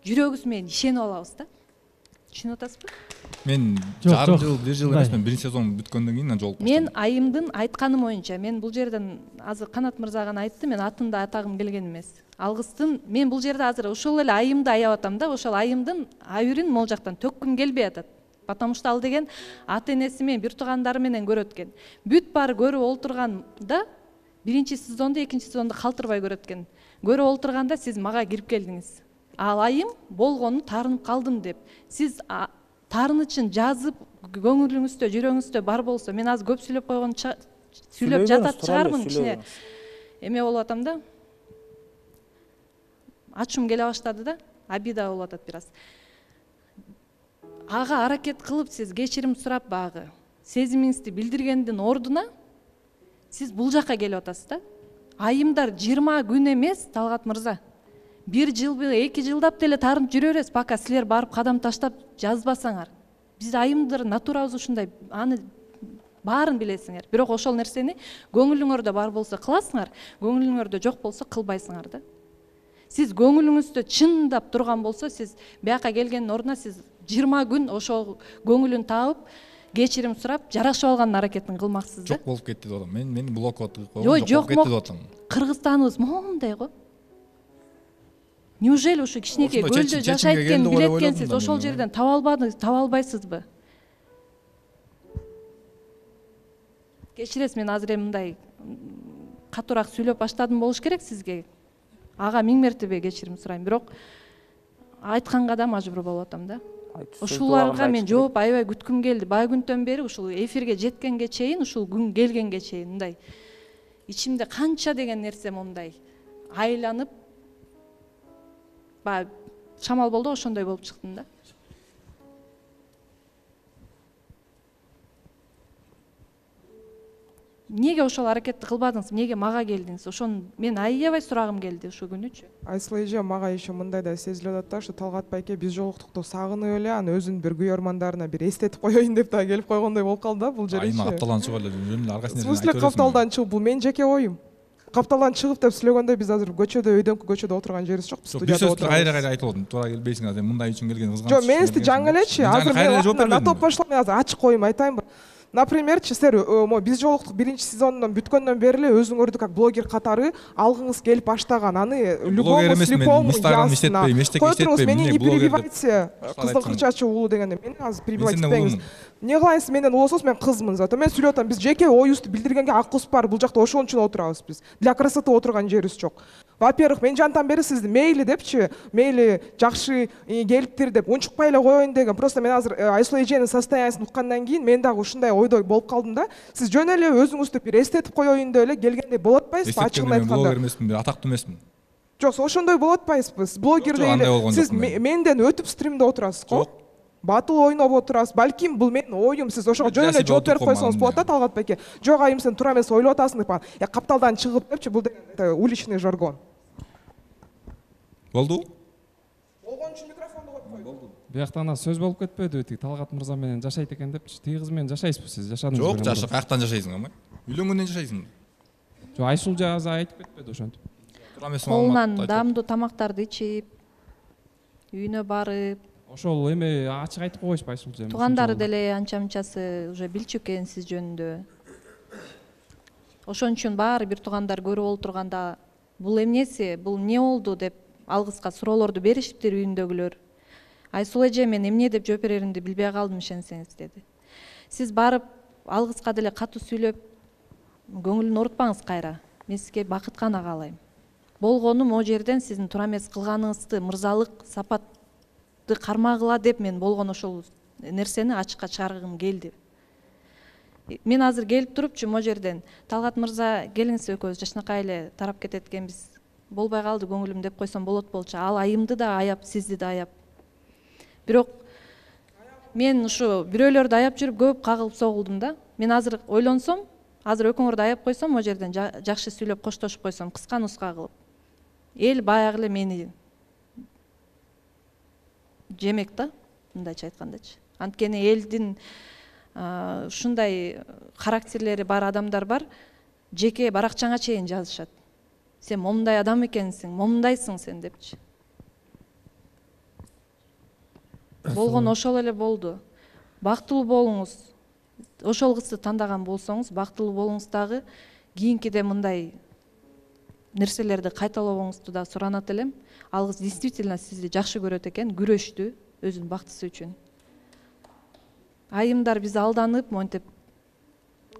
жүрөгүбүз менен ишенип алабыз да. Түшүнүп атасызбы? Мен жарым жыл, бир жыл эмес, мен биринчи сезон бүткөндөн кийин жолугуп баштадым. Мен айымдын айтканы боюнча, мен бул жерден азыр Канат мырза гана айтты, мен атын да атагым келген эмес. Алгыстын, мен бул жерде азыр ошол эле айымды аябап атам да, ошол айымдын абийирин могул жактан төккүм келбей атат. Потому что ал деген ата энеси менен, бир туугандары менен көрөт экен. Бүт баары көрүп олтурганда, биринчи сезонду, экинчи сезонду калтырбай көрөт экен. Көрүп олтурганда сиз мага кирип келдиңиз. Ал айым болгону таарынып калдым деп. Сиз таарынычын жазып, көңүлүңүздө, жүрөгүңүздө бар болсо, мен азыр көп сүйлөп койгон сүйлөп жатат чыгармын кичине. Эме болуп атам да. Ачуум келе баштады да, обида болуп атат бир аз. Ага аракет кылып сиз кечирим сурап багы сезимиңизди билдиргендин ордуна сиз бул жакка келип атасыз да. Айымдар жыйырма күн эмес, Талгат мырза. Бир жыл, эки жылдап деле таарынып жүрө бересиз, пока силер барып кадам таштап жазбасаңар. Биз айымдар натурабыз ушундай, аны баарын билесиңер. Бирок ошол нерсени көңүлүңөрдө бар болсо кыласыңар, көңүлүңөрдө жок болсо кылбайсыңар да. Сиз көңүлүңүздө чындап турган болсо, сиз бияка келгендин ордуна сиз жыйырма күн ошол көңүлүн таап, кечирим сурап, жарашып алган аракетин кылмаксыз да. Жок болуп кетти деп атам. Мен мени блокот кылып койгон, жок болуп кетти деп атам. Кыргызстаныбыз моундай го. Неужели ушу кичинекей көлдө жашайт экенин билет экенсиз, ошол жерден таба албадыңыз, таба албайсызбы? Кечиресиз, мен азыр эми мындай катуураак сүйлөп баштадым болуш керек сизге. Ага миң мертебе кечирим сурайм, бирок айтканга да мажбур болуп атам да. Ушуларга мен жооп аябай күткүм келди. Бай күндөн бери ушул эфирге жеткенге чейин, ушул күн келгенге чейин мындай ичимде канча деген нерсе мындай айланып, баягы шамал болду, ошондой болуп чыктым да. Эмнеге ошол аракетти кылбадыңыз, эмнеге мага келдиңиз? Ошону мен аябай сурагым келди ушул күнүчү. Айсыл эже, мага еще мындай да сезилип атат да, ушу Талгат байке биз жолуктукту сагынып эле, анан өзүнүн бир күйөрмандарына бир эстетип коеюн деп да келип койгондой болуп калды да бул жеречи. Айма капталдан чыгып эле жөн эле аркасынан. В смысле капталдан чыгып, бул менин жеке оюм. Капталдан чыгып деп сүйлөгөндө биз азыр көчөдө, өйдөңкү көчөдө отурган жерибиз жок, биз студияда отурабыз. Биз кайра кайра айтып атам, туура келбейсиң азыр мындай үчүн келген кызганч. Жок, мен сизди жаңы элечи, азыр мен натоп бошло, мен азыр ачык коюм айтайынбы. Напримерчи, силер биз жолуктук биринчи сезондон бүткөндөн бери эле өзүңөрдү как блогер катары алгыңыз келип баштаган. Аны любому слепому ясно. Кой туруңуз, мени не перебивайте. Кыздын кырчачы уулу дегенде мени азыр перебивать этпеңиз. Эмне кылайсыз, менден улуусуз, мен кызмын зато. Мен сүйлөп атам, биз жеке оюбузду билдиргенге акыбыз бар. Бул жакта ошон үчүн отурабыз биз. Для красоты отурган жерибиз жок. Во-первых, мен жантан бери сизди мейли депчи, мейли жакшы келиптир деп унчукпай эле коеюн деген. Просто мен азыр Айсул эженин состояниясын уккандан кийин мен дагы ушундай ойдой болуп калдым да. Сиз жөн эле өзүңүздү бир эстетип коеюн деп эле келгендей болот атпайсызбы, ачыгын айтканда? Блогер эмесмин, бир атактуу эмесмин. Жок, ошондой болот атпайсызбы? Сиз блогер эле, сиз менден өтүп стримде отурасыз го? Батыл ойноп отурасыз. Балким бул менин оюм, сиз ошого жөн эле жооп берип койсоңуз болот да, Талгат байке. Жок, айым сен туура эмес ойлоп атасың деп, я капталдан чыгып депчи, бул деген уличный жаргон. Болду? Болгон үчүн микрофонду коюп койду. Болду. Бияктан сөз болуп кетпеди, тиги Талгат мырза менен жашайт экен депчи. Тиги кыз менен жашайсызбы сиз? Жашадыңызбы? Жок, жаша, каяктан жашайсың амай? Үйлөнгөндөн жашайсың. Жок, Айсул жаза айтып кетпеди ошентип. Колунан даамдуу тамактарды ичип, үйүнө барып. Ошол эме ачык айтып койбойсузбу Айсул эже? Туугандары деле анча-мынчасы уже билчү экен сиз жөнүндө. Ошон үчүн баары бир туугандар көрүп олтурганда бул эмнеси, бул эмне болду деп алгыска суроолорду беришиптир үйүндөгүлөр. Айсул эже, мен эмне деп жооп береримди билбей калдым, ишенсеңиз деди. Сиз барып алгыска деле катуу сүйлөп көңүлүн оорутпаңыз кайра. Мен сизге бакыт гана каалайм. Болгону могу жерден сиздин туура эмес кылганыңызды, мырзалык сапатты кармагыла деп мен болгон ошол нерсени ачыкка чыгаргым келди. Мен азыр келип турупчу могу жерден Талгат мырза, келиңиз экөөбүз жакшынакай эле тарап кетет экенбиз. Болбой калды көңүлүм деп койсом болот болчу. Ал айымды да аяп, сизди да аяп. Бирок мен ушу бирөөлөрдү аяп жүрүп көп кагылып согулдум да. Мен азыр ойлонсом, азыр экөөңөрдү аяп койсом, могу жерден жакшы сүйлөп коштошуп койсом, кыска нуска кылып, эл баягы эле мени жемек да, мындайча айткандачы. Анткени элдин ушундай характерлери бар адамдар бар, жеке баракчаңа чейин жазышат. Сен момундай адам экенсиң, момундайсың сен депчи. Болгон ошол эле болду. Бактылуу болуңуз. Ошол кызды тандаган болсоңуз, бактылуу болуңуз дагы, кийинкиде мындай нерселерди кайталабоңузду да суранат элем. Ал кыз действительно сизди жакшы көрөт экен, күрөштү өзүнүн бактысы үчүн. Айымдар биз алданып, монтип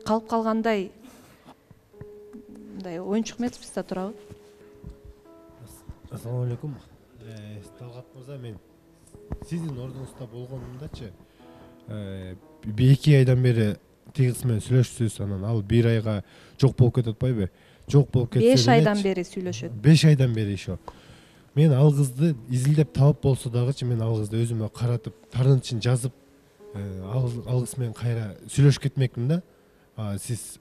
калып калгандай мындай оюнчук эмеспиз да, туурабы? Ассаламу алейкум. Талгат мырза, мен сиздин ордуңузда болгонумдачы бир эки айдан бери тиги кыз менен сүйлөшүпсүз, анан ал бир айга жок болуп кетип атпайбы? Жок болуп кетсе беш айдан бери сүйлөшөт. беш айдан бери еще. Мен ал кызды изилдеп таап болсо дагычы, мен ал кызды өзүмө каратып, таарынычын жазып, ал кыз менен кайра сүйлөшүп кетмекмин да. Сиз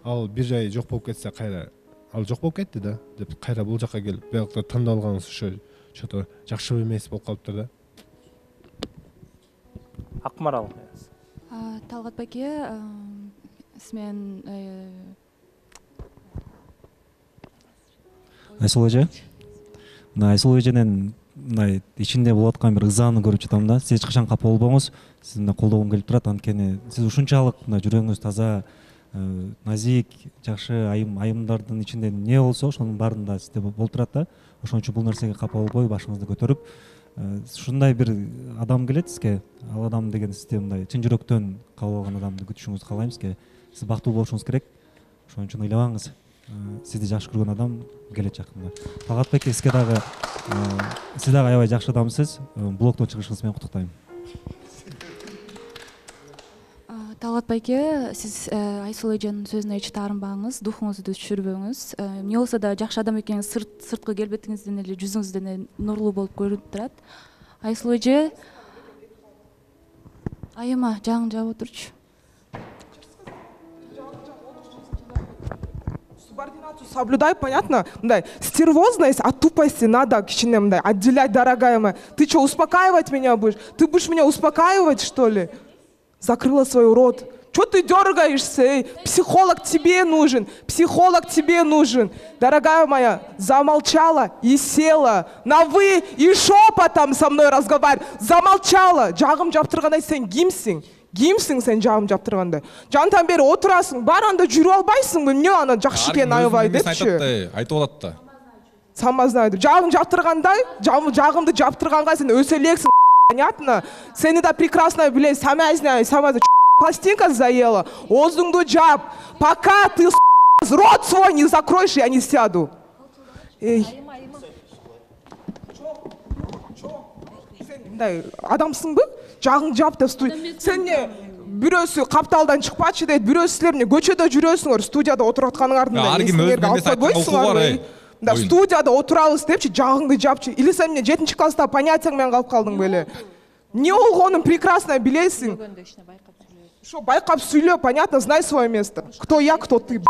ал бир жай жок болуп кетсе, кайра ал жок болуп кетти да деп кайра бул жака келип, биякта тандап алганыңыз ошо чото жакшы эмес болуп калыптыр да. Акмарал. Талгат байке, сиз менен Айсул эже, мына Айсул эженин мындай ичинде болуп аткан бир ызааны көрүп жатам да. Сиз эч качан капа болбоңуз, сизди мына колдогум келип турат. Анткени сиз ушунчалык мына жүрөгүңүз таза, назик, жакшы айым, айымдардын ичинде эмне болсо, ошонун баарында сизде болуп турат да. Ошон үчүн бул нерсеге капа болбой, башыңызды көтөрүп, ушундай бир адам келет сизге. Ал адам деген сизди мындай чын жүрөктөн кабыл алган адамды күтүшүңүздү каалайм сизге. Сиз бактылуу болушуңуз керек. Ошон үчүн ыйлабаңыз. Сизди жакшы көргөн адам келет жакында. Талгат байке, сизге дагы сиз дагы аябай жакшы адамсыз. Блогдон чыгышыңыз менен куттуктайм. Талгат байке, сиз Айсул эженин сөзүнө эч таарынбаңыз, духуңузду түшүрбөңүз. Эмне болсо да жакшы адам экениңиз сырткы келбетиңизден эле, жүзүңүздөн эле нурлуу болуп көрүнүп турат. Айсул эже, айыма жагың жаап отурчу. соблюдай, понятно? Мындай стервозность от тупости надо кичине мындай отделять, дорогая моя. Ты что, успокаивать меня будешь? Ты будешь меня успокаивать, что ли? Закрыла свой рот. Что ты дергаешься? Эй? Психолог тебе нужен, психолог тебе нужен. Дорогая моя, замолчала и села. На вы и шепотом со мной разговаривай. Замолчала. Жағым жаптырғандай сен кимсиң? Кимсиң сен жағым жаптырғандай? Жантан бері отырасың, бар анда жүріп албайсың ба? Эмне ана жакшы экен аябай депчи. Айтып атат да. Сама знаю. Жағым жаптырғандай, жағымды жаптырғанға сен өсө элексиң. Понятно? Сени да прекрасно билем. Сама знаю, сама пластинка заела. Озуңду жап. Пока ты рот свой не закроешь, я не сяду. Эй. Мындай адамсың бы? Жағың жап деп студия. Сен не бирөөсү капталдан чыкпачы дейт, бирөөсү силер эмне көчөдө жүрөсүңөр, студияда отуруп атканыңардын эсиңерге алып койбойсуңарбы? Да, студияда отурабыз депчи, жағыңды жапчы. Или сен эмне жетинчи класста понятияң менен калып калдың беле? Не болгонун прекрасно билесиң. Что, байкап сүйлө, понятно, знай свое место. Кто я, кто ты.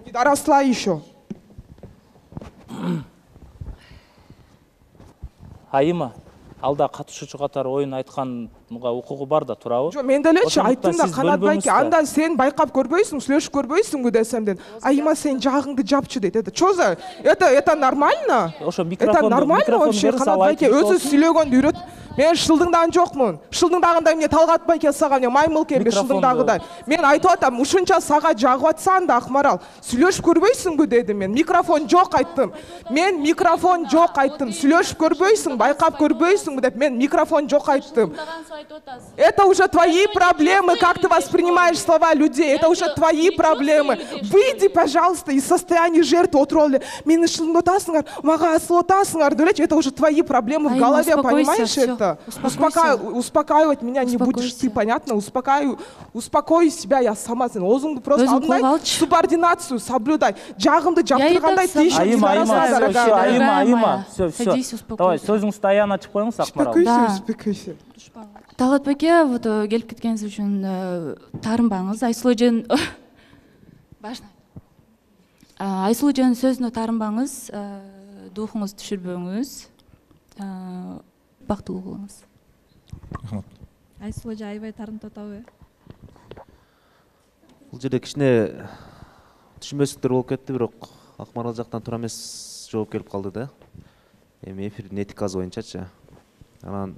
Не доросла еще. Айыма, алда катышуучу катары оюн айтканга укугу бар да, туурабы? Жок, мен делечи айттым да, Канат байке, андан сен байкап көрбөйсүң, сүйлөшүп көрбөйсүңбү десемден. Айыма, сен жагыңды жапчы дейт. Это что за? Это это нормально? Ошо Это микрофонду нормально вообще? Канат байке өзү сүйлөгөндү үйрөт. Мен шылдыңдан жокмун. Шылдыңдагындай эмне Талгат байке сага эмне маймыл кембе шылдыңдагыдай. Мен айтып атам, ушунча сага жагып атсаң да Акмарал, сүйлөшүп көрбөйсүңбү дедим мен. Микрофон жок айттым. Мен микрофон жок айттым. Сүйлөшүп көрбөйсүң, байкап көрбөйсүңбү деп мен микрофон жок айттым. Это уже твои проблемы, как ты воспринимаешь слова людей. Это уже твои проблемы. Выйди, пожалуйста, из состояния жертвы отуруп эле. Мени шылдыңдап атасыңар, мага асылып атасыңар делечи. Это уже твои проблемы в голове, понимаешь это? Успокаивай, успокаивать меня не будешь ты, понятно? Успокаивай, успокой себя, я сама. Озуңду просто алдыңдай субординацию соблюдай. Жагымды жаптыргандай тийшек. Айыма, айыма, айыма, айыма. Все, все. Давай, сөзүңүздү аягына ачып коюңуз, Акмарал. Успокойся, успокойся. Талгат байке, вот келип кеткениңиз үчүн таарынбаңыз. Айсулуу эженин башына. Айсулуу эженин сөзүнө таарынбаңыз, духуңузду түшүрбөңүз. Бактылуу болуңуз. Рахмат. Айсулуу эже аябай таарынтып атабы? Бул жерде кичине түшүнбөстүктөр болуп кетти, бирок Акмарал жактан туура эмес жооп келип калды да. Эми эфирдин этикасы боюнчачы. Анан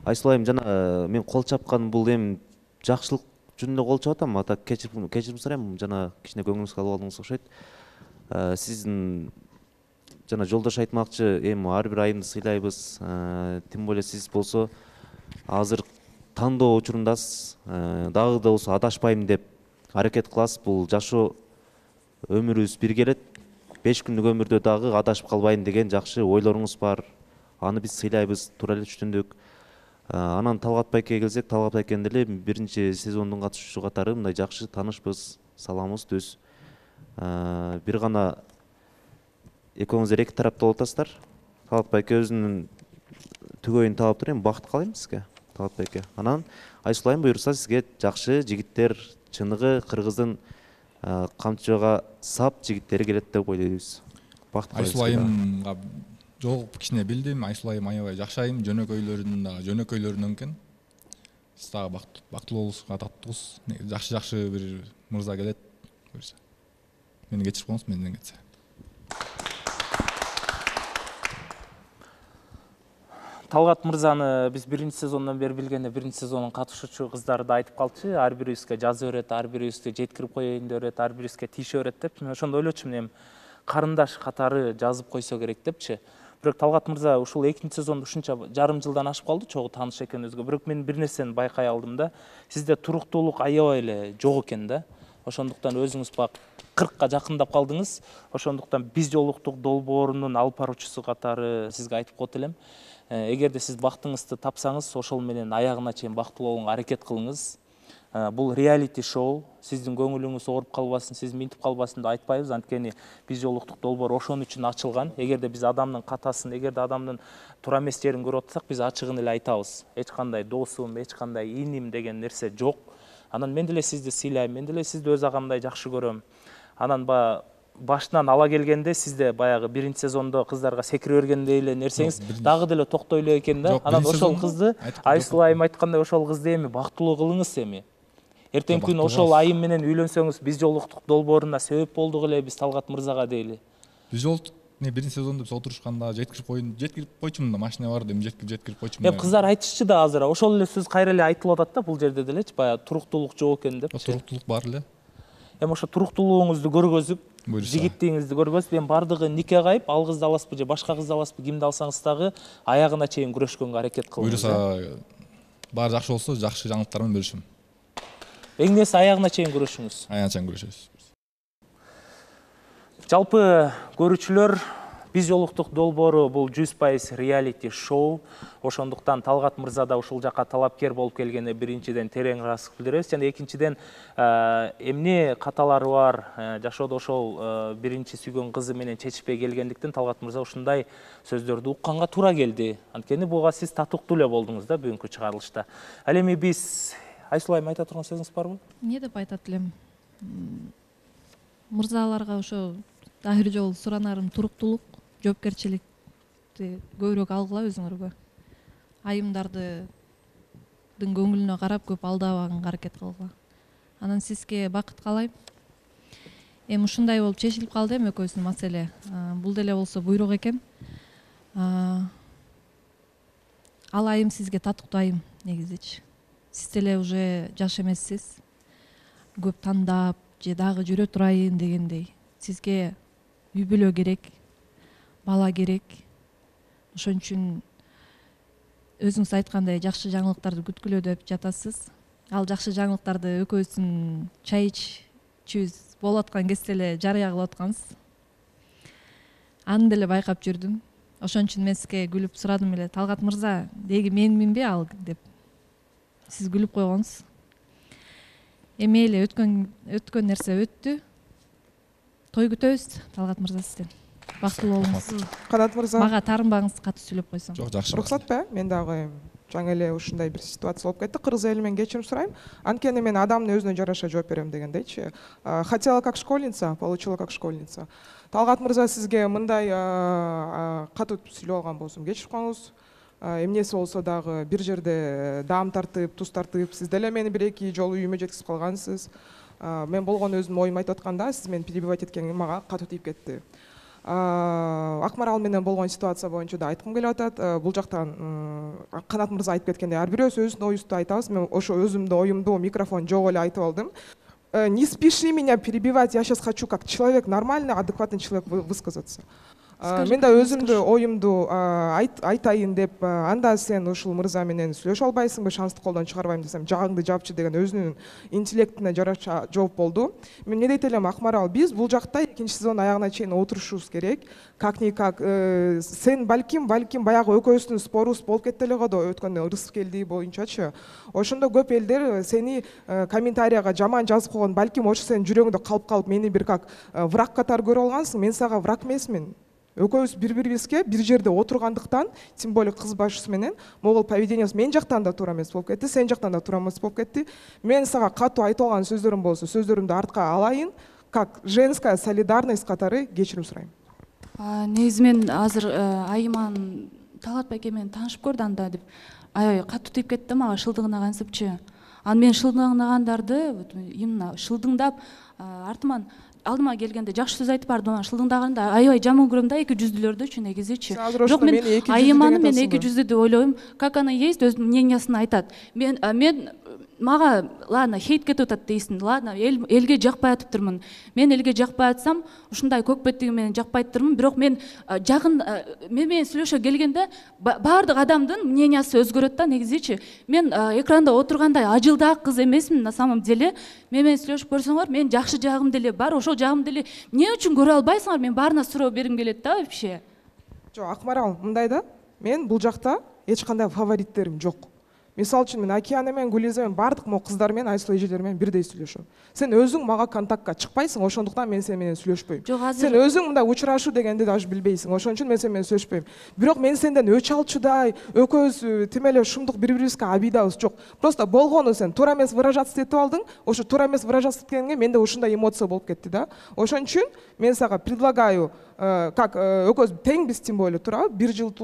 Айсулуу айым жана мен кол чапкан бул эми жакшылык жөнүндө кол чапатам, ата кечирим кечирим сурайм, жана кичине көңүлүңүзгө алып алдыңыз окшойт. Сиздин жана жолдош айтмакчы, эми ар бир айымды сыйлайбыз. Тем более сиз болсо азыр тандоо учурундасыз. Дагы да болсо адашпайм деп аракет кыласыз. Бул жашоо өмүрүбүз бир келет. беш күндүк өмүрдө дагы адашып калбайын деген жакшы ойлоруңуз бар. Аны биз сыйлайбыз, туура эле түшүндүк. Анан Талгат байкеге келсек, Талгат байкенин деле биринчи сезондун катышуучу катары мындай жакшы таанышпыз, саламыбыз түз. Бир гана экөөңүздөр эки тарапта болуп атасыздар. Талгат байке өзүнүн түгөйүн таап туруп, эми бакыт каалайм сизге, Талгат байке. Анан Айсулуу айым буюрса сизге жакшы жигиттер, чыныгы кыргыздын камчыга сап жигиттери келет деп ойлойбуз. Бакыт каалайм. Айсулуу айымга жолугуп кичине билдим. Айсулуу айым аябай жакшы айым, жөнөкөйлөрүнүн дагы жөнөкөйлөрүнөн экен. Сиз дагы бактылуу болуңузга татыктугуз. Жакшы-жакшы бир мырза келет. Буюрса. Мени кечирип коюңуз, менден кетсе. Талгат мырзаны биз биринчи сезондон бери билгенде, биринчи сезондун катышуучу кыздары да айтып калчу, ар бирибизге жаза берет, ар бирибизди жеткирип коеюн деп берет, ар бирибизге тише берет деп. Мен ошондо ойлочумун, эми карындаш катары жазып койсо керек депчи. Бирок Талгат мырза ушул экинчи сезондо ушунча жарым жылдан ашып калды, чогуу тааныш экенибизге. Бирок мен бир нерсени байкай алдым да, сизде туруктуулук аябай эле жок экен да. Ошондуктан өзүңүз бак кыркка жакындап калдыңыз. Ошондуктан биз жолуктук долбоорунун алып баруучусу катары сизге айтып коет элем. Эгерде сиз бактыңызды тапсаңыз, ошол менен аягына чейин бактылуу болууга аракет кылыңыз. Бул реалити шоу, сиздин көңүлүңүз ооруп калбасын, сиз минтип калбасын деп айтпайбыз, анткени биз жолуктук долбоор ошон үчүн ачылган. Эгерде биз адамдын катасын, эгерде адамдын туура эмес жерин көрүп атсак, биз ачыгын эле айтабыз. Эч кандай досум, эч кандай иним деген нерсе жок. Анан мен деле сизди сыйлайм, мен деле сизди өз агамдай жакшы көрөм. анан баягы башынан ала келгенде сизде баягы биринчи сезондо кыздарга секире бергендей эле нерсеңиз дагы деле токтой эле экен да. Анан ошол кызды Айсул айым айткандай ошол кызды эми бактылуу кылыңыз эми. Эртеңки күнү ошол айым менен үйлөнсөңүз биз жолуктук долбооруна себеп болдук эле биз Талгат мырзага дейли. Биз жолуктук биринчи сезондо биз отурушканда жеткирип коюн, жеткирип койчумун да, машина бар эми жеткирип жеткирип койчумун. Эми кыздар айтышчу да азыр ошол эле сөз кайра эле айтылып атат да бул жерде делечи, баягы туруктуулук жок экен деп. Туруктуулук бар эле. Эми ошо туруктуулугуңузду көргөзүп, жигиттигиңизди көргөзүп, эми бардыгы нике кайып, ал кызды аласызбы же башка кызды аласызбы, кимди алсаңыз дагы аягына чейин күрөшкөнгө аракет кылыңыз. Буюрса баары жакшы болсо, жакшы жаңылыктар менен бөлүшөм. Эң нерсе аягына чейин күрөшүңүз. Аягына чейин күрөшөбүз. Жалпы көрүүчүлөр, биз жолуктук долбоору бул жүз пайыз реалити шоу. Ошондуктан Талгат мырза да ушул жакка талапкер болуп келгене биринчиден терең ыраазычылык билдиребиз жана экинчиден эмне каталары бар, жашоодо ошол биринчи сүйгөн кызы менен чечишпей келгендиктен Талгат мырза ушундай сөздөрдү укканга туура келди. Анткени буга сиз татыктуу эле болдуңуз да бүгүнкү чыгарылышта. Ал эми биз Айсул айым айта турган сөзүңүз барбы? Эмне деп айтат элем? Мырзаларга ошо ар жолу суранарым туруктуулук, жоопкерчиликти көбүрөөк алгыла өзүңөргө. Айымдардын көңүлүнө карап көп алдабаганга аракет кылгыла. Анан сизге бакыт каалайм. Эми ушундай болуп чечилип калды эми экөөбүздүн маселе. Бул деле болсо буйрук экен. Ал айым сизге татыктуу айым негизичи. Сиз деле уже жаш эмессиз. Көп тандап же дагы жүрө турайын дегендей. Сизге үй бүлө керек, бала керек. Ошон үчүн өзүңүз айткандай жакшы жаңылыктарды күткүлө деп жатасыз. Ал жакшы жаңылыктарды экөөбүздүн чай ичүүбүз болуп аткан кезде эле жарыя кылып аткансыз. Аны деле байкап жүрдүм. Ошон үчүн мен сизге күлүп сурадым эле, Талгат мырза, деги менминби ал деп. Сиз күлүп койгонсуз. Эми эле өткөн өткөн нерсе өттү. Той күтөбүз Талгат мырза сизден. Бактылуу болуңуз. Канат мырза. Мага таарынбаңыз, катуу сүйлөп койсоң. Жок, жакшы. Уруксатпы? Мен дагы жаңы эле ушундай бир ситуация болуп кетти. Кыргыз эли менен кечирим сурайм. Анткени мен адамдын өзүнө жараша жооп берем дегендейчи. Хотела как школьница, получила как школьница. Талгат мырза сизге мындай катуу сүйлөп алган болсом кечирип коюңуз. Эмнеси болсо дагы бир жерде даам тартып, туз тартып, сиз деле мени бир эки жолу үйүмө жеткизип калгансыз. Мен болгон өзүмдүн оюмду айтып атканда сиз мени перебивать эткениң мага катуу тийип кетти. Акмарал менен болгон ситуация боюнча да айткым келип атат. Бул жактан Канат мырза айтып кеткендей, ар бирөөбүз өзүбүздүн оюбузду айтабыз. Мен ошо өзүмдүн оюмду микрофон жок эле айтып алдым. Не спеши меня перебивать, я сейчас хочу как человек, нормальный, адекватный человек высказаться. Мен да өзүмдүн оюмду айтайын деп, анда сен ушул мырза менен сүйлөшө албайсыңбы, шансты колдон чыгарбайм десем, жагыңды жапчы деген өзүнүн интеллектине жараша жооп болду. Мен эмне дейт элем, Акмарал, биз бул жакта экинчи сезон аягына чейин отурушубуз керек. Как-никак сен балким, балким баягы экөөбүздүн спорубуз болуп кетти эле го да өткөн ырыс келди боюнчачы. Ошондо көп элдер сени комментарияга жаман жазып койгон, балким ошо сенин жүрөгүңдө калып калып мени бир как враг катары көрүп алгансың. Мен сага враг эмесмин. Экөөбүз бири-бирибизге бир жерде отургандыктан, тем более кыз башчысы менен могул поведениябыз мен жактан да туура эмес болуп кетти, сен жактан да туура эмес болуп кетти. Мен сага катуу айтып алган сөздөрүм болсо, сөздөрүмдү артка алайын, как женская солидарность катары кечирим сурайм. Негизи мен азыр айыман Талгат байке менен таанышып көрдү анда деп аябай катуу тийип кетти мага шылдыгына кантипчи. Анан мен шылдыгнагандарды именно шылдыңдап артыман алдыма келгенде жакшы сөз айтып бардым, анан шылдыңдаганында аябай жаман көрөм да эки жүздүүлөрдүчү негизичи. Жок, мен айыманы мен эки жүздүү деп ойлойм. Как она есть, өзүнүн мнениясын айтат. Мен мен мага ладно хейт кетип атат дейсиң, ладно элге жакпай атыптырмын. Мен элге жакпай атсам, ушундай көкпеттиги менен жакпай атыптырмын, бирок мен жагын мен менен сүйлөшө келгенде баардык адамдын мнениясы өзгөрөт да негизичи. Мен экранда отургандай ажылдаа кыз эмесмин на самом деле. Мен менен сүйлөшүп көрсөңөр, мен жакшы жагым деле бар, ошол жагым деле эмне үчүн көрө албайсыңар? Мен баарына суроо бергим келет да вообще. Жок, Акмарал, мындай да, мен бул жакта эч кандай фавориттерим жок. Мисалы үчүн мен Океана менен Гулиза менен баардык могу кыздар менен Айсулу эжелер менен бирдей сүйлөшөм. Сен өзүң мага контактка чыкпайсың, ошондуктан мен сен менен сүйлөшпөйм. Сен өзүң мындай учурашуу дегенди даже билбейсиң, ошон үчүн мен сен менен сүйлөшпөйм. Бирок мен сенден өч алчудай, экөөбүз тим эле ушундук бири-бирибизге обидабыз жок. Просто болгону сен туура эмес выражаться этип алдың, ошо туура эмес выражаться эткениңе менде ушундай эмоция болуп кетти да. Ошон үчүн мен сага предлагаю, как экөөбүз теңбиз тем более, туурабы? Бир жыл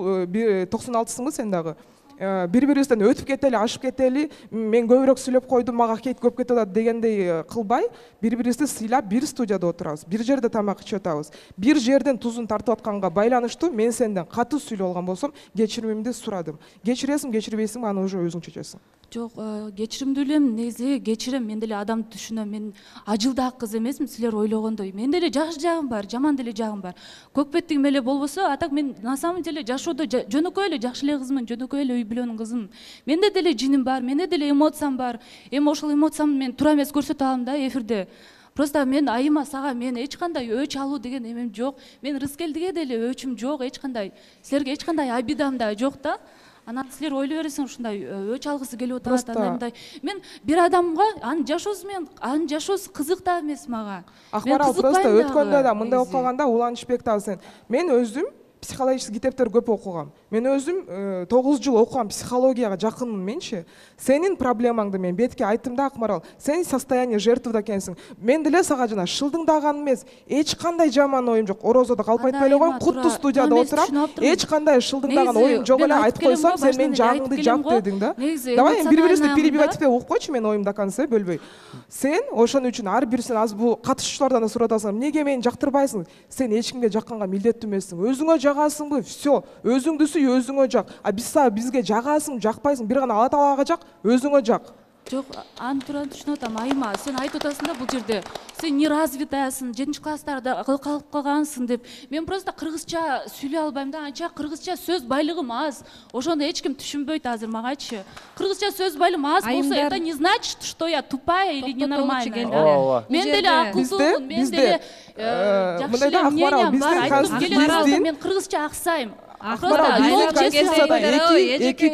токсон алтысыңбы сен дагы? Бири-бирибизден өтүп кетели, ашып кетели, мен көбүрөөк сүйлөп койдум, мага кейт көп кетип атат дегендей кылбай, бири-бирибизди сыйлап бир студияда отурабыз, бир жерде тамак ичип атабыз. Бир жерден тузун тартып атканга байланыштуу мен сенден катуу сүйлөп алган болсом, кечиримимди сурадым. Кечиресиң, кечирбейсиңби, аны уже өзүң чечесиң. Жок, кечиримдүү элем, негизи кечирем, мен деле адамды түшүнөм. Мен ажылдаа кыз эмесмин, силер ойлогондой. Менде деле жакшы жагым бар, жаман деле жагым бар. Көкпеттигим эле болбосо, атак мен на самом деле жашоодо жөнөкөй эле жакшы эле кызмын, жөнөкөй эле үй бүлөнүн кызымын. Менде деле жиним бар, менде деле эмоциям бар. Эми ошол эмоциямды мен туура эмес көрсөтө алам да эфирде. Просто мен Айыма сага мен эч кандай өч алуу деген эмем жок. Мен Рыскелдиге деле өчүм жок, эч кандай. Силерге эч кандай обидам да жок да. Анан силер ойлой бересиң ушундай өч алгысы келип атат, андай. Мен бир адамга анын жашоосу менен анын жашоосу кызык да эмес мага. Акмарал просто өткөндө да мындай окуп калганда уланышбек да сен. Мен өзүм психологический китептер көп окугам. Мен өзүм тогуз жыл окугам, психологияга жакынмын менчи. Сенин проблемаңды мен бетке айттым да, Акмарал. Сен состояние жертвада экенсиң. Мен деле сага жана шылдыңдаган эмес, эч кандай жаман оюм жок. Орозодо калп айтпай эле коюм, куттуу студияда отурам. Эч кандай шылдыңдаган оюм жок эле, айтып койсом, сен менин жагыңды жап дедиң да. Давай эми бири-бирибизди перебивать этпей угуп койчу, мен оюмду до конца бөлбөй. Сен ошон үчүн ар бир сен азыр бул катышуучулардан да сурап атасың, эмнеге мени жактырбайсың? Сен эч кимге жакканга милдеттүү эмессиң. Өзүңө жагасыңбы? Всё, өзүңдү сүй, өзүңө жак. А биз бизге жагасың, жакпайсың, бир гана Алла Таалага жак, өзүңө жак. Жок, аны туура түшүнүп атам, Айыма. Сен айтып атасың да бул жерде. Сен неразвитаясың, жетинчи класстарда калып калгансың деп. Мен просто кыргызча сүйлөй албайм да, анча кыргызча сөз байлыгым аз. Ошондо эч ким түшүнбөйт азыр магачы. Кыргызча сөз байлыгым аз болсо, это не значит, что я тупая или ненормальная. Мен деле акылдуумун, мен деле жакшы эле мнениям бар. Айткым келет, мен кыргызча аксайм. Эки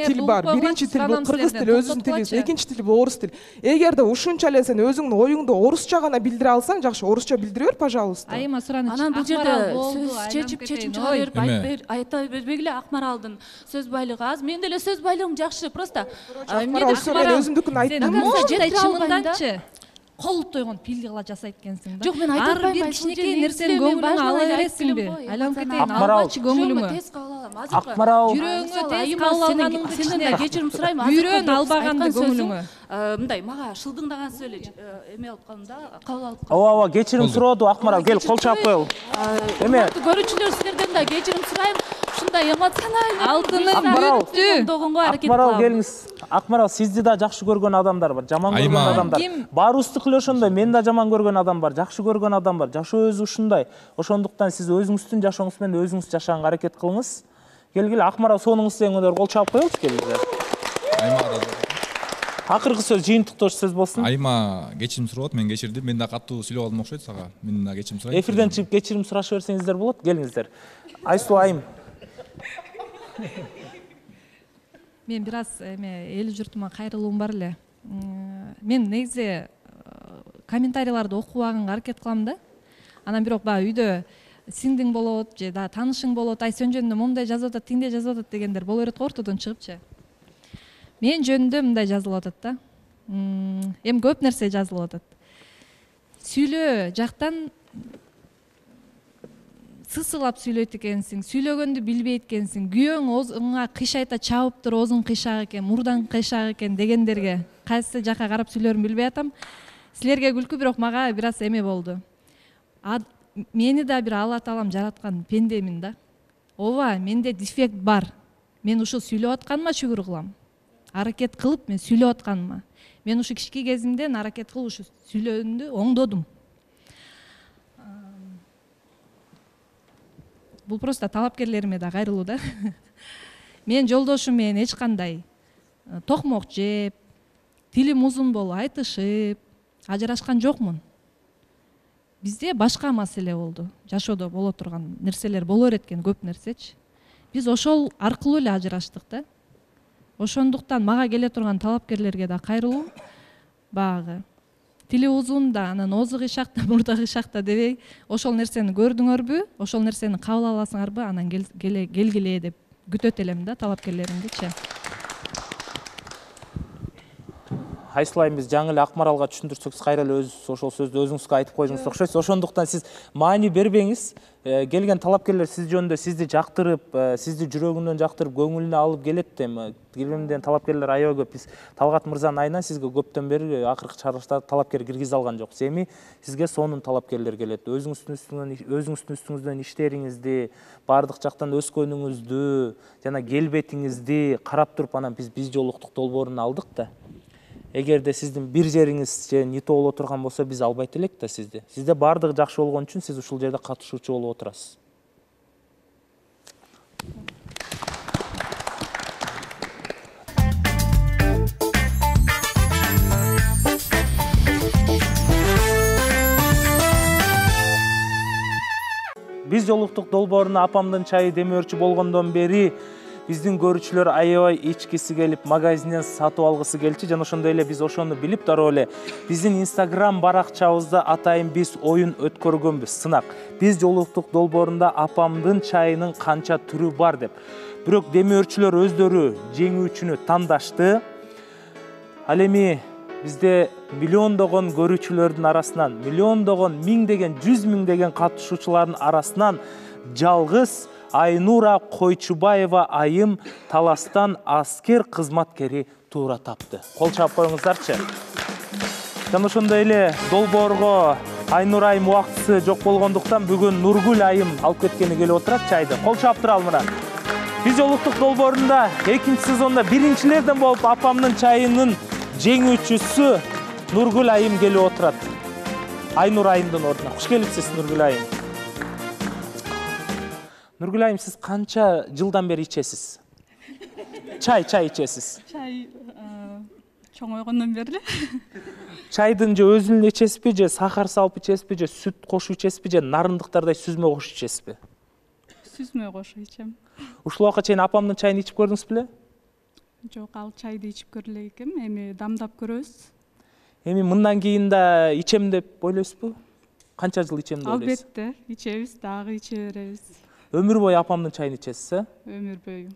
тил бар. Биринчи тил бул кыргыз тили, өзүнүн тилибиз. Экинчи тил бул орус тил. Эгерде ушунча эле сен өзүңдүн оюңду орусча гана билдире алсаң, жакшы, орусча билдире бер, пожалуйста. Айыма сураныч. Анан бул жерде сөз чечип чечим чыгара берип айта бербегиле, Акмаралдын сөз байлыгы аз. Мен деле сөз байлыгым жакшы, просто Акмарал өзүмдүкүн айттым. Мондай чымындачы колуп тойгон пилди кыла жасайт экенсиң да. Жок, мен айта албайм. Ар бир кичинекей нерсени көңүлүңө ала бересиңби? Айланып кетейин, албачы көңүлүңө. Акмарал, жүрөгүңө тез кабыл алганыңды сенден да кечирим сурайм. Үйрөн албаганды көңүлүңө. Мындай мага шылдыңдаган сөз эле эме алып калдым да, кабыл алып калдым. ооба ооба, кечирим сурооду Акмарал, кел кол чаап коелу. Эме көрүүчүлөр, силерден да кечирим сурайм. Ушундай эмоциональный алтынын бүттү. Акмарал, келиңиз. Акмарал, сизди да жакшы көргөн адамдар бар, жаман көргөн адамдар. Баарыбыздыкы эле ошондой, мен да жаман көргөн адам бар, жакшы көргөн адам бар. Жашоо өзү ушундай. Ошондуктан сиз өзүңүздүн жашооңуз менен өзүңүз жашаганга аракет кылыңыз. Келгиле, Акмарал, сонуңуз дегендер кол чаап коелучу, келиңиздер. Акыркы сөз жыйынтыктоочу сөз болсун. Айыма кечирим сурап, мен кечирдим. Мен да катуу сүйлөп алдым окшойт сага. Мен да кечирим сурайм. Эфирден чыгып кечирим сурашып берсеңиздер болот. Келиңиздер. Айсулуу айым. Мен бир аз эме эл журтума кайрылуум бар эле. Мен негизи комментарийларды окубаганга аракет кылам да. Анан бирок баягы үйдө сиңдиң болот же да таанышың болот, ай сен жөнүндө момундай жазып атат, тиңдей жазып атат дегендер боло берет го ортодон чыгыпчы. Мен жөнүндө мындай жазылып атат да. Эми көп нерсе жазылып атат. Сүйлөө жактан сысылап сүйлөйт экенсиң, сүйлөгөндү билбейт экенсиң, күйөөң озуңа кыйшайта чабыптыр, озуң кыйшак экен, мурдаң кыйшак экен дегендерге кайсы жака карап сүйлөрүмүн билбей атам. Силерге күлкү, бирок мага бир аз эме болду. Мени да бир Алла Таалам жараткан пендемин да. Ооба, менде дефект бар. Мен ушул сүйлөп атканыма шүгүр кылам. Аракет кылып мен сүйлөп атканыма. Мен ушу кички кезимден аракет кылып ушу сүйлөөнү оңдодум. Бул просто талапкерлериме да кайрылуу да. Мен жолдошум менен эч кандай токмок жеп, тилим узун болуп айтышып, ажырашкан жокмун. Бизде башка маселе болду. Жашоодо боло турган нерселер боло берет экен, көп нерсечи. Биз ошол аркылуу эле ажыраштык да. ошондуктан мага келе турган талапкерлерге да кайрылуу, баягы тили узун да, анан оозу кыйшак да, мурда кыйшак да дебей, ошол нерсени көрдүңөрбү, ошол нерсени кабыл аласыңарбы, анан келгиле деп күтөт элем да талапкерлеримдичи. Айсул айым, биз жаңы эле Акмаралга түшүндүрсөк, сиз кайра эле өзүңүз ошол сөздү өзүңүзгө айтып койдуңуз окшойсуз. Ошондуктан сиз маани бербеңиз. Келген талапкерлер сиз жөнүндө сизди жактырып, сизди жүрөгүнөн жактырып, көңүлүнө алып келет. Эми келгенден талапкерлер аябай көп. Биз Талгат мырзанын айынан сизге көптөн бери акыркы чыгарылышта талапкер киргизе алган жокпуз. Эми сизге сонун талапкерлер келет. Өзүңүздүн үстүңөн, өзүңүздүн үстүңүздөн иштериңизди, баардык жактан өскөнүңүздү жана келбетиңизди карап туруп, анан биз биз жолуктук долбоорун алдык да. Эгерде сиздин бир жериңиз же нито боло турган болсо, биз албайт элек да сизди. Сизде баардыгы жакшы болгон үчүн сиз ушул жерде катышуучу болуп отурасыз. Биз жолуктук долбооруна апамдын чайы демөөрчү болгондон бери биздин көрүүчүлөр аябай ичкиси келип, магазинден сатып алгысы келчү. Жана ошондой эле биз ошону билип дароо эле биздин Instagram баракчабызда атайын биз оюн өткөргөнбүз, сынак. Биз жолуктук долбоорунда апамдын чайынын канча түрү бар деп. Бирок демөөрчүлөр өздөрү жеңүүчүнү тандашты. Ал эми бизде миллиондогон көрүүчүлөрдүн арасынан, миллиондогон, миңдеген, жүз миңдеген катышуучулардын арасынан жалгыз Айнура Койчубаева айым Таластан аскер кызматкери туура тапты. Кол чаап коюңуздарчы. Жана ошондой эле долбоорго Айнура айым убактысы жок болгондуктан бүгүн Нургүл айым алып кеткени келип отурат чайды. Кол чаап туралы мына. Биз жолуктук долбоорунда экинчи сезондо биринчилерден болуп апамдын чайынын жеңүүчүсү Нургүл айым келип отурат. Айнура айымдын ордуна. Куш келипсиз, Нургүл айым. Нургүл айым, сиз канча жылдан бери ичесиз? Чай, чай ичесиз? Чай чоңойгондон бери. Чайдын же өзүн ичесизби, же сахар салып ичесизби, же сүт кошуп ичесизби, же нарындыктардай сүзмө кошуп ичесизби? Сүзмө кошуп ичем. Ушул убакка чейин апамдын чайын ичип көрдүңүз беле? Жок, ал чайды ичип көрүлө экем, эми дамдап көрөбүз. Эми мындан кийин да ичем деп ойлойсузбу? Канча жыл ичем деп ойлойсуз? Албетте, ичебиз, дагы иче беребиз. Өмүр бою апамдын чайын ичесиз, э? Өмүр бою.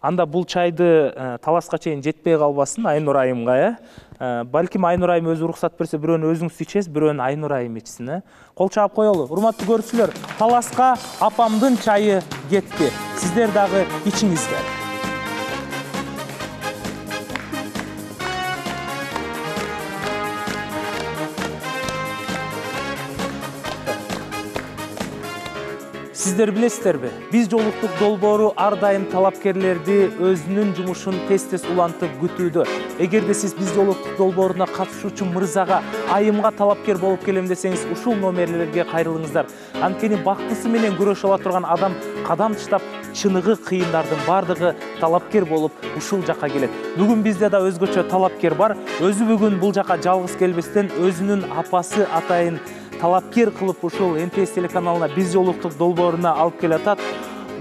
Анда бул чайды таласка чейин жетпей калбасын Айнура айымга, э? Балким Айнура айым өзү уруксат берсе, бирөөнү өзүңүз ичесиз, бирөөнү Айнура айым ичсин, э? Кол чаап коелу. Урматтуу көрүүчүлөр, таласка апамдын чайы кетти. Сиздер дагы ичиңиздер. Сиздер билесиздерби? Биз жолуктук долбоору ар дайым талапкерлерди өзүнүн жумушун тез-тез улантып күтүүдө. Эгерде сиз биз жолуктук долбооруна катышуучу мырзага, айымга талапкер болуп келем десеңиз, ушул номерлерге кайрылыңыздар. Анткени бактысы менен күрөшө ала турган адам кадам таштап, чыныгы кыйындардын бардыгы талапкер болуп ушул жакка келет. Бүгүн бизде да өзгөчө талапкер бар. Өзү бүгүн бул жакка жалгыз келбестен өзүнүн апасы атайын талапкер кылып ушул эн тэ эс телеканалына биз жолуктук долбооруна алып келатат.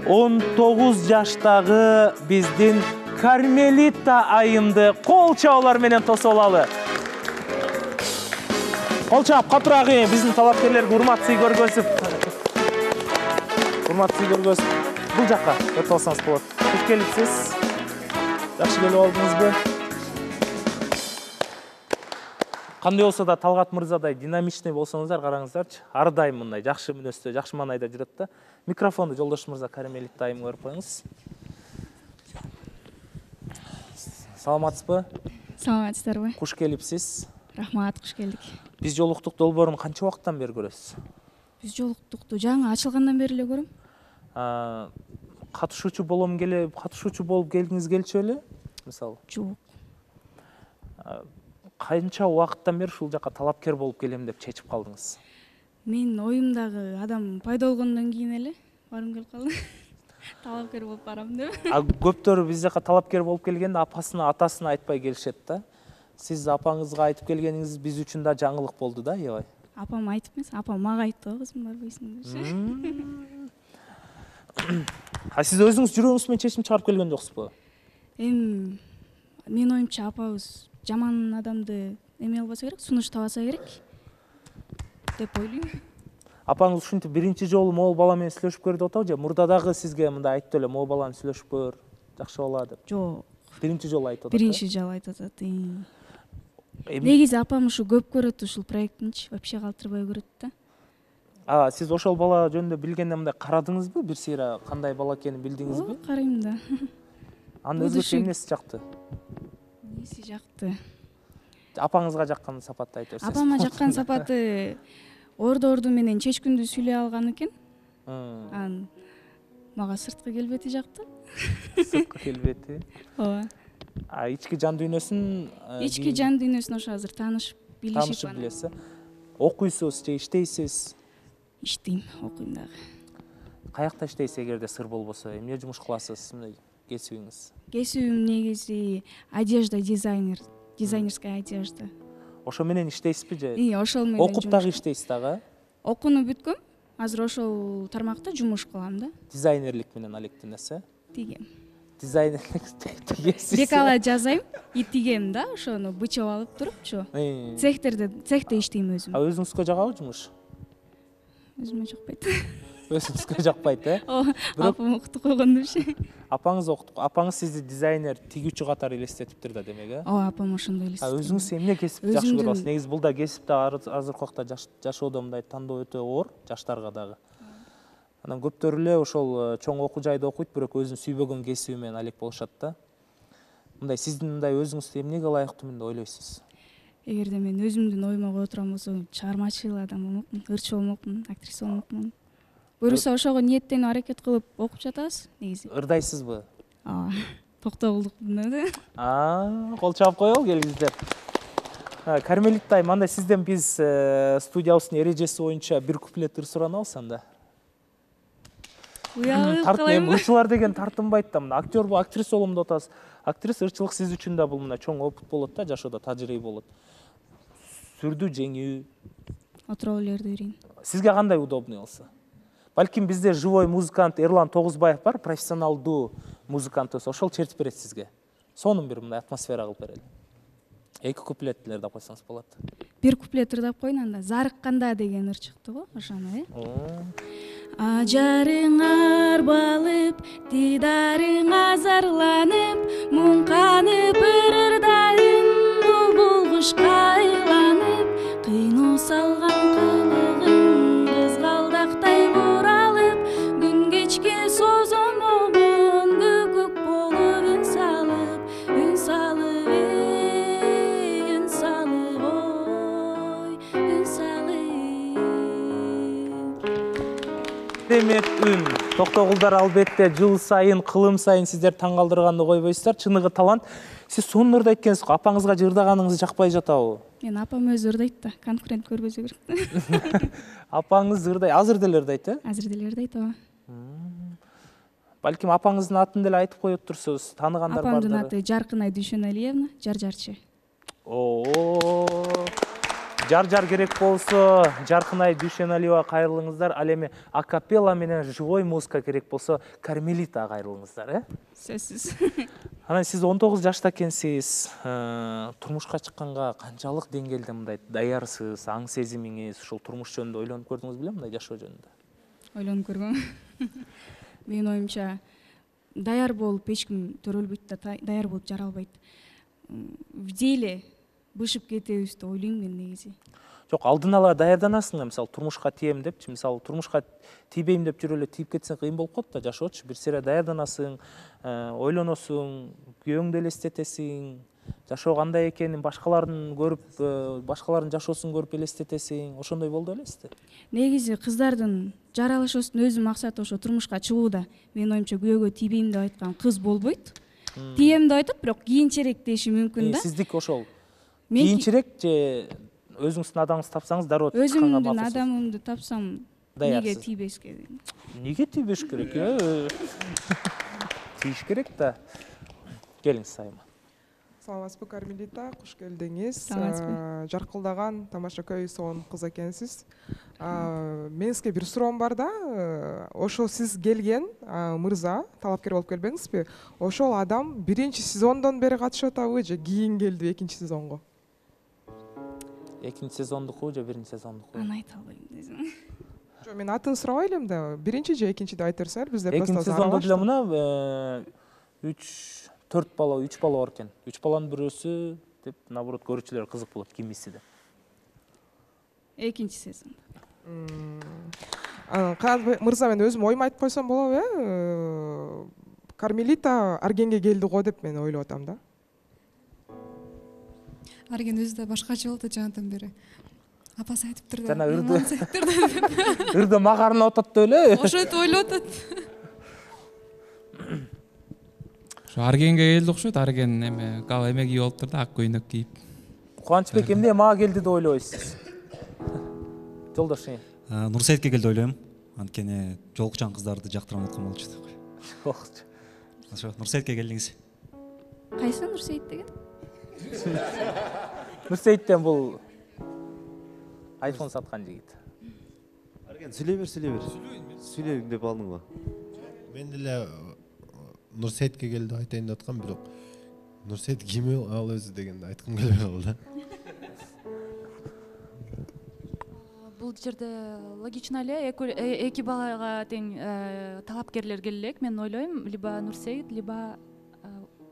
он тогуз жаштагы биздин Кармелита айымды кол чабуулар менен тосуп алалы. Кол чаап, катурагы биздин талапкерлерге урмат сый көргөзүп. Урмат сый көргөзүп. Бул жакка өтүп алсаңыз болот. Куш келипсиз? Жакшы келип алдыңызбы? Кандай болсо да Талгат мырзадай динамичный болсоңуздар, караңыздарчы. Ар дайым мындай жакшы мүнөздө, жакшы маанайда жүрөт да. Микрофонду жолдош мырза Кармелита айымга берип коюңуз. Саламатсызбы? Саламатсыздарбы? Куш келипсиз? Рахмат, куш келдик. Биз жолуктук долбоорун канча убакыттан бери көрөсүз? Биз жолуктукту жаңы ачылгандан бери эле көрөм. Катышуучу болом келе, катышуучу болуп келгиңиз келчү беле? Мисалы? Жок. Канча убакыттан бери ушул жакка талапкер болуп келем деп чечип калдыңыз? Мен оюмдагы адам пайда болгондон кийин эле барым келип калды. Талапкер болуп барам деп. А көптөр биз жака талапкер болуп келгенде апасына, атасына айтпай келишет да. Сиз апаңызга айтып келгениңиз биз үчүн да жаңылык болду да, аябай. Апам айтып эмес, апам мага айтты го, кызым барбайсың деп. А сиз өзүңүз жүрөгүңүз менен чечим чыгарып келген жоксузбу? эми менин оюмча апабыз жаман адамды эме албаса керек, сунуштабаса керек деп ойлойм. Апаңыз ушинтип биринчи жолу могул бала менен сүйлөшүп көр деп атабы же мурда дагы сизге мындай айтты эле могул баланы сүйлөшүп көр, жакшы болот деп? Жок. Биринчи жолу айтып атат. Биринчи жолу айтып атат. Негизи апам ушу көп көрөт ушул проектинчи, вообще калтырбай көрөт да. А, сиз ошол бала жөнүндө билгенде мындай карадыңызбы? Бир сыйра кандай бала экенин билдиңизби? Карайм да. Анын өзгөчө эмнеси жакты? Эмнеси жакты? Апаңызга жаккан сапатты айтып берсеңиз. Апама жаккан сапаты ордо орду менен чечкүндү сүйлөй алган экен. Анан мага сырткы келбети жакты. Сырткы келбети. Ооба. А ички жан дүйнөсүн ички жан дүйнөсүн ошо азыр таанышып, билишип. Таанышып билесиз. Окуйсуз же иштейсиз? Иштейм, окуйм дагы. Каякта иштейсиз эгерде сыр болбосо? Эмне жумуш кыласыз? Мындай кесибиңиз? Кесибим негизи одежда дизайнер, дизайнерская одежда. Ошо менен иштейсизби же? Ии, ошол менен. Окуп дагы иштейсиз дагы? Окууну бүткөм. Азыр ошол тармакта жумуш кылам да. Дизайнерлик менен алектенесиз? Тигем. Дизайнерлик тигесиз. Декала жазайм, и тигем да, ошону бычап алып турупчу. Цехтерде, цехте иштейм өзүм. А өзүңүзгө жагабы жумуш? Өзүмө жакпайт. Өзүңүзгө жакпайт, э? Ооба, апам окутуп койгон деши. Апаңыз окутуп, апаңыз сизди дизайнер, тигүүчү катары элестетиптир да, демек, э? Ооба, апам ошондой элестетет. А өзүңүз эмне кесип жакшы көрүп атасыз? Негизи бул да кесипте азыркы убакта жашоодо мындай тандоо өтө оор, жаштарга дагы. Анан көптөр эле ошол чоң окуу жайда окуйт, бирок өзүнүн сүйбөгөн кесиби менен алек болушат да. Мындай сиздин мындай өзүңүздү эмнеге ылайыктуу деп ойлойсуз? Эгерде мен өзүмдүн оюма кое турган болсом, чыгармачыл адам болмокмун, ырчы болмокмун, актриса болмокмун. Буюрса ошого ниеттенип аракет кылып окуп жатабыз негизи. Ырдайсызбы? Ооба. Токтогулдукмун да. А, кол чаап коелу келиңиздер. Кармелит айым, анда сизден биз студиябыздын эрежеси боюнча бир куплет ыр суранабыз анда. Уялып Тартым, калайбы? ырчылар деген тартынбайт да, мына актер бул, актриса болом деп атасыз. Актриса, ырчылык сиз үчүн да бул мына чоң опыт болот да, жашоодо тажрыйба болот. Сүрдүү жеңүү. Отура берди берейин. Сизге кандай удобный болсо? Балким бизде живой музыкант Эрлан Тогузбаев бар, профессионалдуу музыкантыбыз, ошол чертип берет сизге. Сонун бир мындай атмосфера кылып берели. Эки куплет ырдап койсоңуз болот. Бир куплет ырдап коеюн анда. Зарыкканда деген ыр чыкты го, ошону, э? Ажарың арбалып, дидарың азарланып, муңканып бир ырдайын, булбул кушка айланып, кыйноо салган кылыгың кызгалдактай буралып, күн кечке созомогон көкөк болуп үн салып, үн салып, эй, үн салып, ой, үн салып. Демек үн. Токтогулдар албетте жыл сайын, кылым сайын сиздер таң калтырганды койбойсуздар. Чыныгы талант. Сиз сонун ырдайт экенсиз го. Апаңызга ырдаганыңыз жакпай жатабы? Мен апам өзү ырдайт да, конкурент көрбөсө керек. Апаңыз ырдай, азыр деле ырдайт, э? Азыр деле ырдайт, ооба. Балким апаңыздын атын деле айтып коет турсуз, тааныгандар бардыр. Апамдын аты Жаркынай Дүйшөналиевна, Жар-жарчы. Оо. Жар-жар керек болсо, Жаркынай Дүйшөналиева кайрылыңыздар. Ал эми акапелла менен живой музыка керек болсо, Кармелита кайрылыңыздар, э? Сөзсүз. Анан сиз он тогуз жашта экенсиз. Турмушка чыкканга канчалык деңгээлде мындай даярсыз, аң сезимиңиз, ушул турмуш жөнүндө ойлонуп көрдүңүз белем, мындай жашоо жөнүндө? Ойлонуп көргөм. Менин оюмча, даяр болуп эч ким төрөлбөйт да, даяр болуп жаралбайт. В деле бышып кетебиз деп ойлойм мен негизи. Жок, алдын ала даярданасың да, мисалы турмушка тием депчи, мисалы турмушка тийбейм деп жүрүп эле тийип кетсең кыйын болуп калат да жашоочу. Бир сыйра даярданасың, ойлоносуң, күйөөңдү элестетесиң, жашоо кандай экенин башкалардын көрүп, башкалардын жашоосун көрүп элестетесиң. Ошондой болду белесизби? Негизи кыздардын жаралышуусунун өзү максаты ошо турмушка чыгууда. Менин оюмча күйөөгө тийбейм деп айткан кыз болбойт. Тием деп айтат, бирок кийинчерээк деши мүмкүн да. Сиздики ошол. Кийинчерээк же өзүңүздүн адамыңызды тапсаңыз дароо чыкканга макулсуз? Өзүмдүн адамымды тапсам, неге тийбешке? Неге тийбеш керек? Тийиш керек да. Келиңиз айыма. Саламатсызбы Кармелита, куш келдиңиз. Саламатсызбы. Жаркылдаган тамаша көй сонун кыз экенсиз. Менин сизге бир суроом бар да. Ошо сиз келген мырза, талапкер болуп келбеңизби? Ошол адам биринчи сезондон бери катышып атабы же кийин келди экинчи сезонго? Экинчи сезондуку же биринчи сезондуку? Аны айта албайм десем. Жок, мен атын сурабай элем да. Биринчи же экинчи деп айта берсеңер, бизде просто Экинчи сезондо деле мына үч төрт бала, үч бала бар экен. Үч баланын бирөөсү деп, наоборот, көрүүчүлөр кызык болот, кимиси деп. Экинчи сезонда. Канат мырза, мен өзүм оюмду айтып койсом болобу, э? Кармелита Аргенге келди го деп мен ойлоп атам да. Арген өзү да башкача болду жанатан бери. Апасы айтыптыр да. Жана ырды ырды магарынып атат деп эле. Ошентип ойлоп атат. Ошо Аргенге келди окшойт. Арген эме гал эме кийип алыптыр да, ак көйнөк кийип. Кубанычбек, эмне мага келди деп ойлойсуз? Жолдош. Нурсейитке келди ойлойм. Анткени жолукчан кыздарды жактырам аткан болчу деп. Жокчу. Ошо Нурсейитке келдиңиз. Кайсы Нурсейит деген? Нурсейиттен бул айфон саткан жигит. Арген, сүйлөй бер, сүйлөй бер. Сүйлөйм деп алдың го. Мен деле Нурсейитке келди айтайын деп аткам, бирок Нурсейит ким ал өзү дегенди айткым келбей калды. Бул жерде логично эле эки балага тең талапкерлер келе элек. Мен ойлойм, либо Нурсейит, либо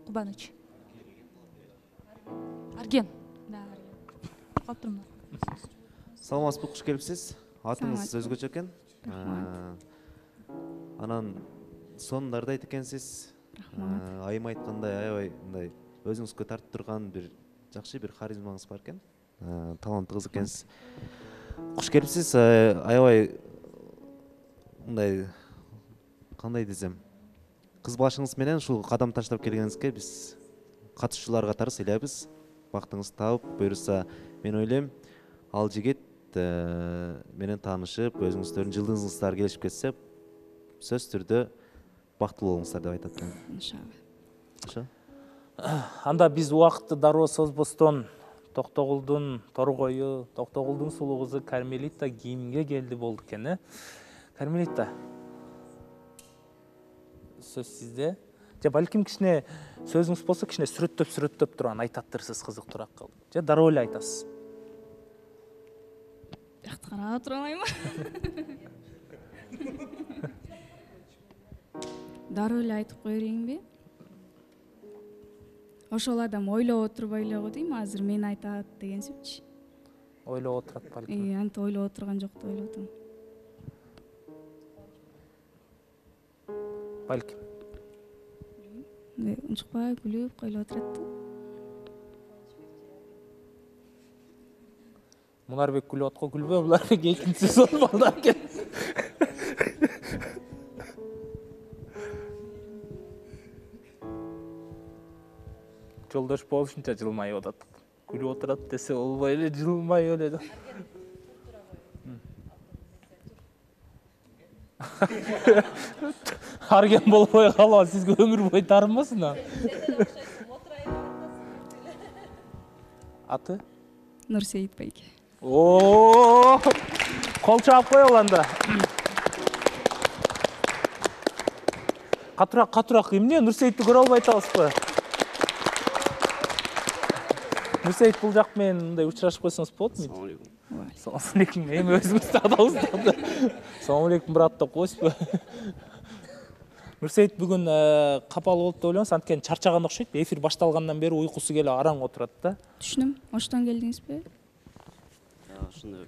Кубаныч. Арген. Да, Арген. Калып турмун. Саламатсызбы, куш келипсиз. Атыңыз өзгөчө экен. Анан сонунда айтты экенсиз. Айым айткандай, аябай мындай өзүңүзгө тартып турган бир жакшы бир харизмаңыз бар экен. Таланттуу кыз экенсиз. Куш келипсиз. Аябай мындай кандай десем, кыз башыңыз менен ушул кадам таштап келгениңизге биз катышуучулар катары сыйлайбыз. Бактыңыз таап, буюрса, мен ойлойм, ал жигит менен таанышып, өзүңүздөрдүн жылдызыңыздар келишип кетсе, сөз түрдө бактылуу болуңуздар деп айтат элем. Иншалла. Анда биз убакытты дароо созбостон Токтогулдун торгою, Токтогулдун сулуу кызы Кармелита кийимге келди болду экен, э? Кармелита, сөз сизде. Же балким кичине сөзүңүз болсо, кичине сүрөттөп сүрөттөп турган айтаттырсыз, кызыктуураак кылып. Же дароо эле айтасыз? Бияқта карап тура алайынбы? Дароо эле айтып кое берейинби? Ошол адам ойлоп отурбай эле го дейм, азыр мен айтат дегенсипчи. Ойлоп отурат балким. Э, антип ойлоп отурган жок деп ойлоп атам. Балким. Унчукпай күлүп койлоп отурат да. Мунарбек күлүп атко, күлбө, Мунарбек экинчи сезон балдар экен. Жолдош болушунча жылмайып атат. Күлүп отурат десе болбой эле, жылмайып эле. Арген болбой калба, сизге өмүр бою таарынбасын а. Аты? Нурсейит байке. О, кол чаап коелу анда. Катыраак, катыраак, эмне Нурсеитти көрө албай атабызбы? Нурсейит, бул жак менен мындай учурашып койсоңуз болот му? Салам алейкум. Салам алейкум. Эми өзүңүз таадыңыз. Салам алейкум, брат деп койсузбу? Нурсейит бүгүн капалуу болуп деп ойлоймуз, анткени чарчаган окшойт. Эфир башталгандан бери уйкусу келип араң отурат да. Түшүнөм. Оштон келдиңизби? Ошондой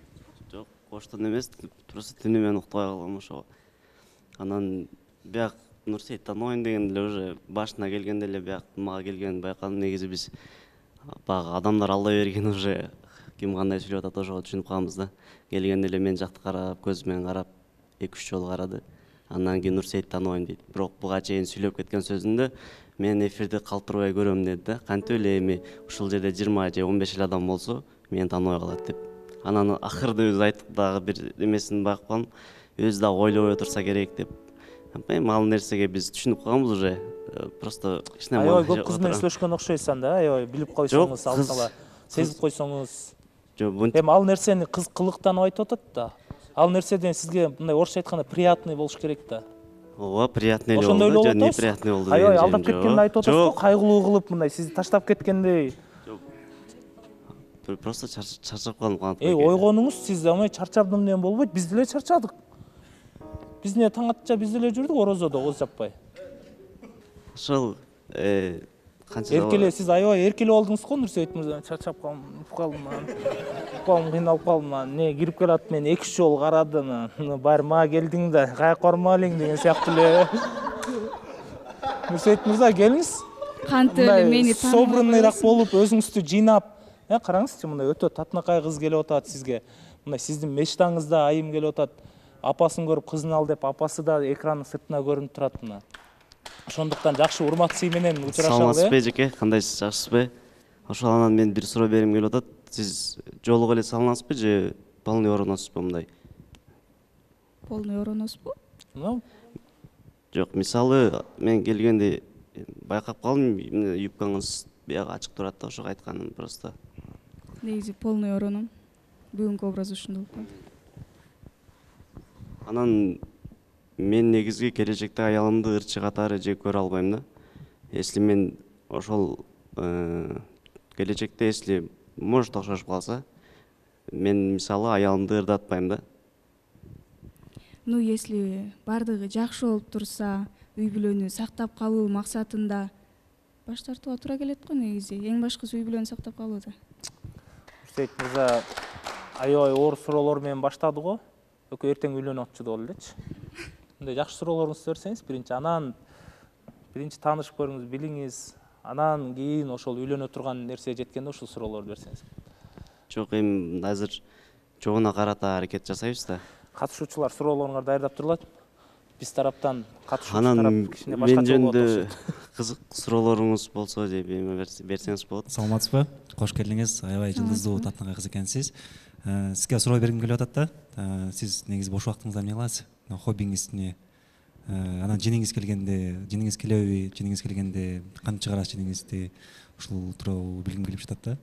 жок, оштон эмес, просто түнү менен уктабай калгам ошого. Анан бияк Нурсейит таныбайм деген эле уже башына келгенде эле бияк мага келгенин байкадым. Негизи биз баягы адамдар алдай берген уже ким кандай сүйлөп атат ошого түшүнүп калганбыз да. Келгенде эле мен жакты карап, көзү менен карап, эки үч жолу карады. Андан кийин Нурсейит таныбайм дейт. Бирок буга чейин сүйлөп кеткен сөзүндө мен эфирди калтырбай көрөм деди да. Кантип эле эми ушул жерде жыйырма же он беш эле адам болсо, мени тааныбай калат деп. Анан акырда өзү айттык дагы бир эмесин байкап калдым. Өзү дагы ойлобой отурса керек деп. эми ал нерсеге биз түшүнүп калганбыз уже. Просто кичине аябай көп кыз менен сүйлөшкөн окшойсуз анда, аябай билип койсоңуз, ал сала сезип койсоңуз. Жок, эми ал нерсени кыз кылыктанып айтып атат да. Ал нерседен сизге мындай орусча айтканда приятный болуш керек да. Ооба, приятный эле Ошондой эле болду, болот. неприятный болду. Аябай алдап кеткенин айтып атасыз го, кайгылуу кылып мындай сизди таштап кеткендей. Просто чарчап калдым. Эй, ойгонуңуз, сиз ама чарчадым деген болбойт, биз деле чарчадык. Биз эмне таң атча биз деле жүрдүк орозодо кооз жаппай. Ошол канча эркеле, сиз аябай эркеле болдуңуз го, Нурсейит мырза. Чарчап калдым, калдым, кыйналып калдым. Не кирип келат, мен эки үч жолу карадым. Баары мага келдиң да, каяка барма элең деген сыяктуу эле. Нурсейит мырза, келиңиз. Кантип эле мени тааныбай собранныйраак болуп, өзүңүздү жыйнап, э, караңызчы, мындай өтө татынакай кыз келип атат сизге. Мындай сиздин мечтаңызда айым келип атат. Апасын көрүп кызын ал деп, апасы да экранын сыртына көрүнүп турат мына. Ошондуктан жакшы урмат сый менен учурашалы. Саламатсызбы жеке, кандайсыз, жакшысызбы? Ошол анан мен бир суроо бергим келип атат. Сиз жолук эле салынасызбы же полный ороносузбу мындай? Полный ороносузбу? Жок, мисалы мен келгенде байкап калдым, юбкаңыз бияга ачык турат да, ошого айтканым просто. Негизи полный ороном. Бүгүнкү образ ушундай болуп калды. Анан мен негизги келечекте аялымды ырчы катары же көрө албайм да. Если мен ошол келечекте, если может окшошуп калса, мен мисалы аялымды ырдатпайм да. Ну, если бардыгы жакшы болуп турса, үй бүлөнү сактап калуу максатында баш тартууга туура келет го негизи. Эң башкысы үй бүлөнү сактап калуу да. Нурсейит мырза аябай оор суроолор менен баштады го. Экөө эртең үйлөнүп атчу болду элечи. Мындай жакшы суроолоруңузду берсеңиз, биринчи анан биринчи таанышып көрүңүз, билиңиз, анан кийин ошол үйлөнө турган нерсеге жеткенде ушул суроолорду берсеңиз. Жок, эми азыр жогуна карата аракет жасайбыз да. Катышуучулар суроолоруңарды даярдап турулат. Биз тараптан катышуучу тарап тарап кичине мен башкача болот. жөнүндө кызык суроолоруңуз болсо же берсеңиз болот. Саламатсызбы? Кош келдиңиз. Аябай жылдыздуу татынакай кыз экенсиз. Сизге суроо бергим келип атат да. Сиз негизи бош убактыңызда эмне кыласыз? Хоббиңиз эмне? Анан жиниңиз келгенде, жиниңиз келеби, жиниңиз келгенде кантип чыгарасыз жиниңизди? Ушул тууралуу билгим келип жатат да.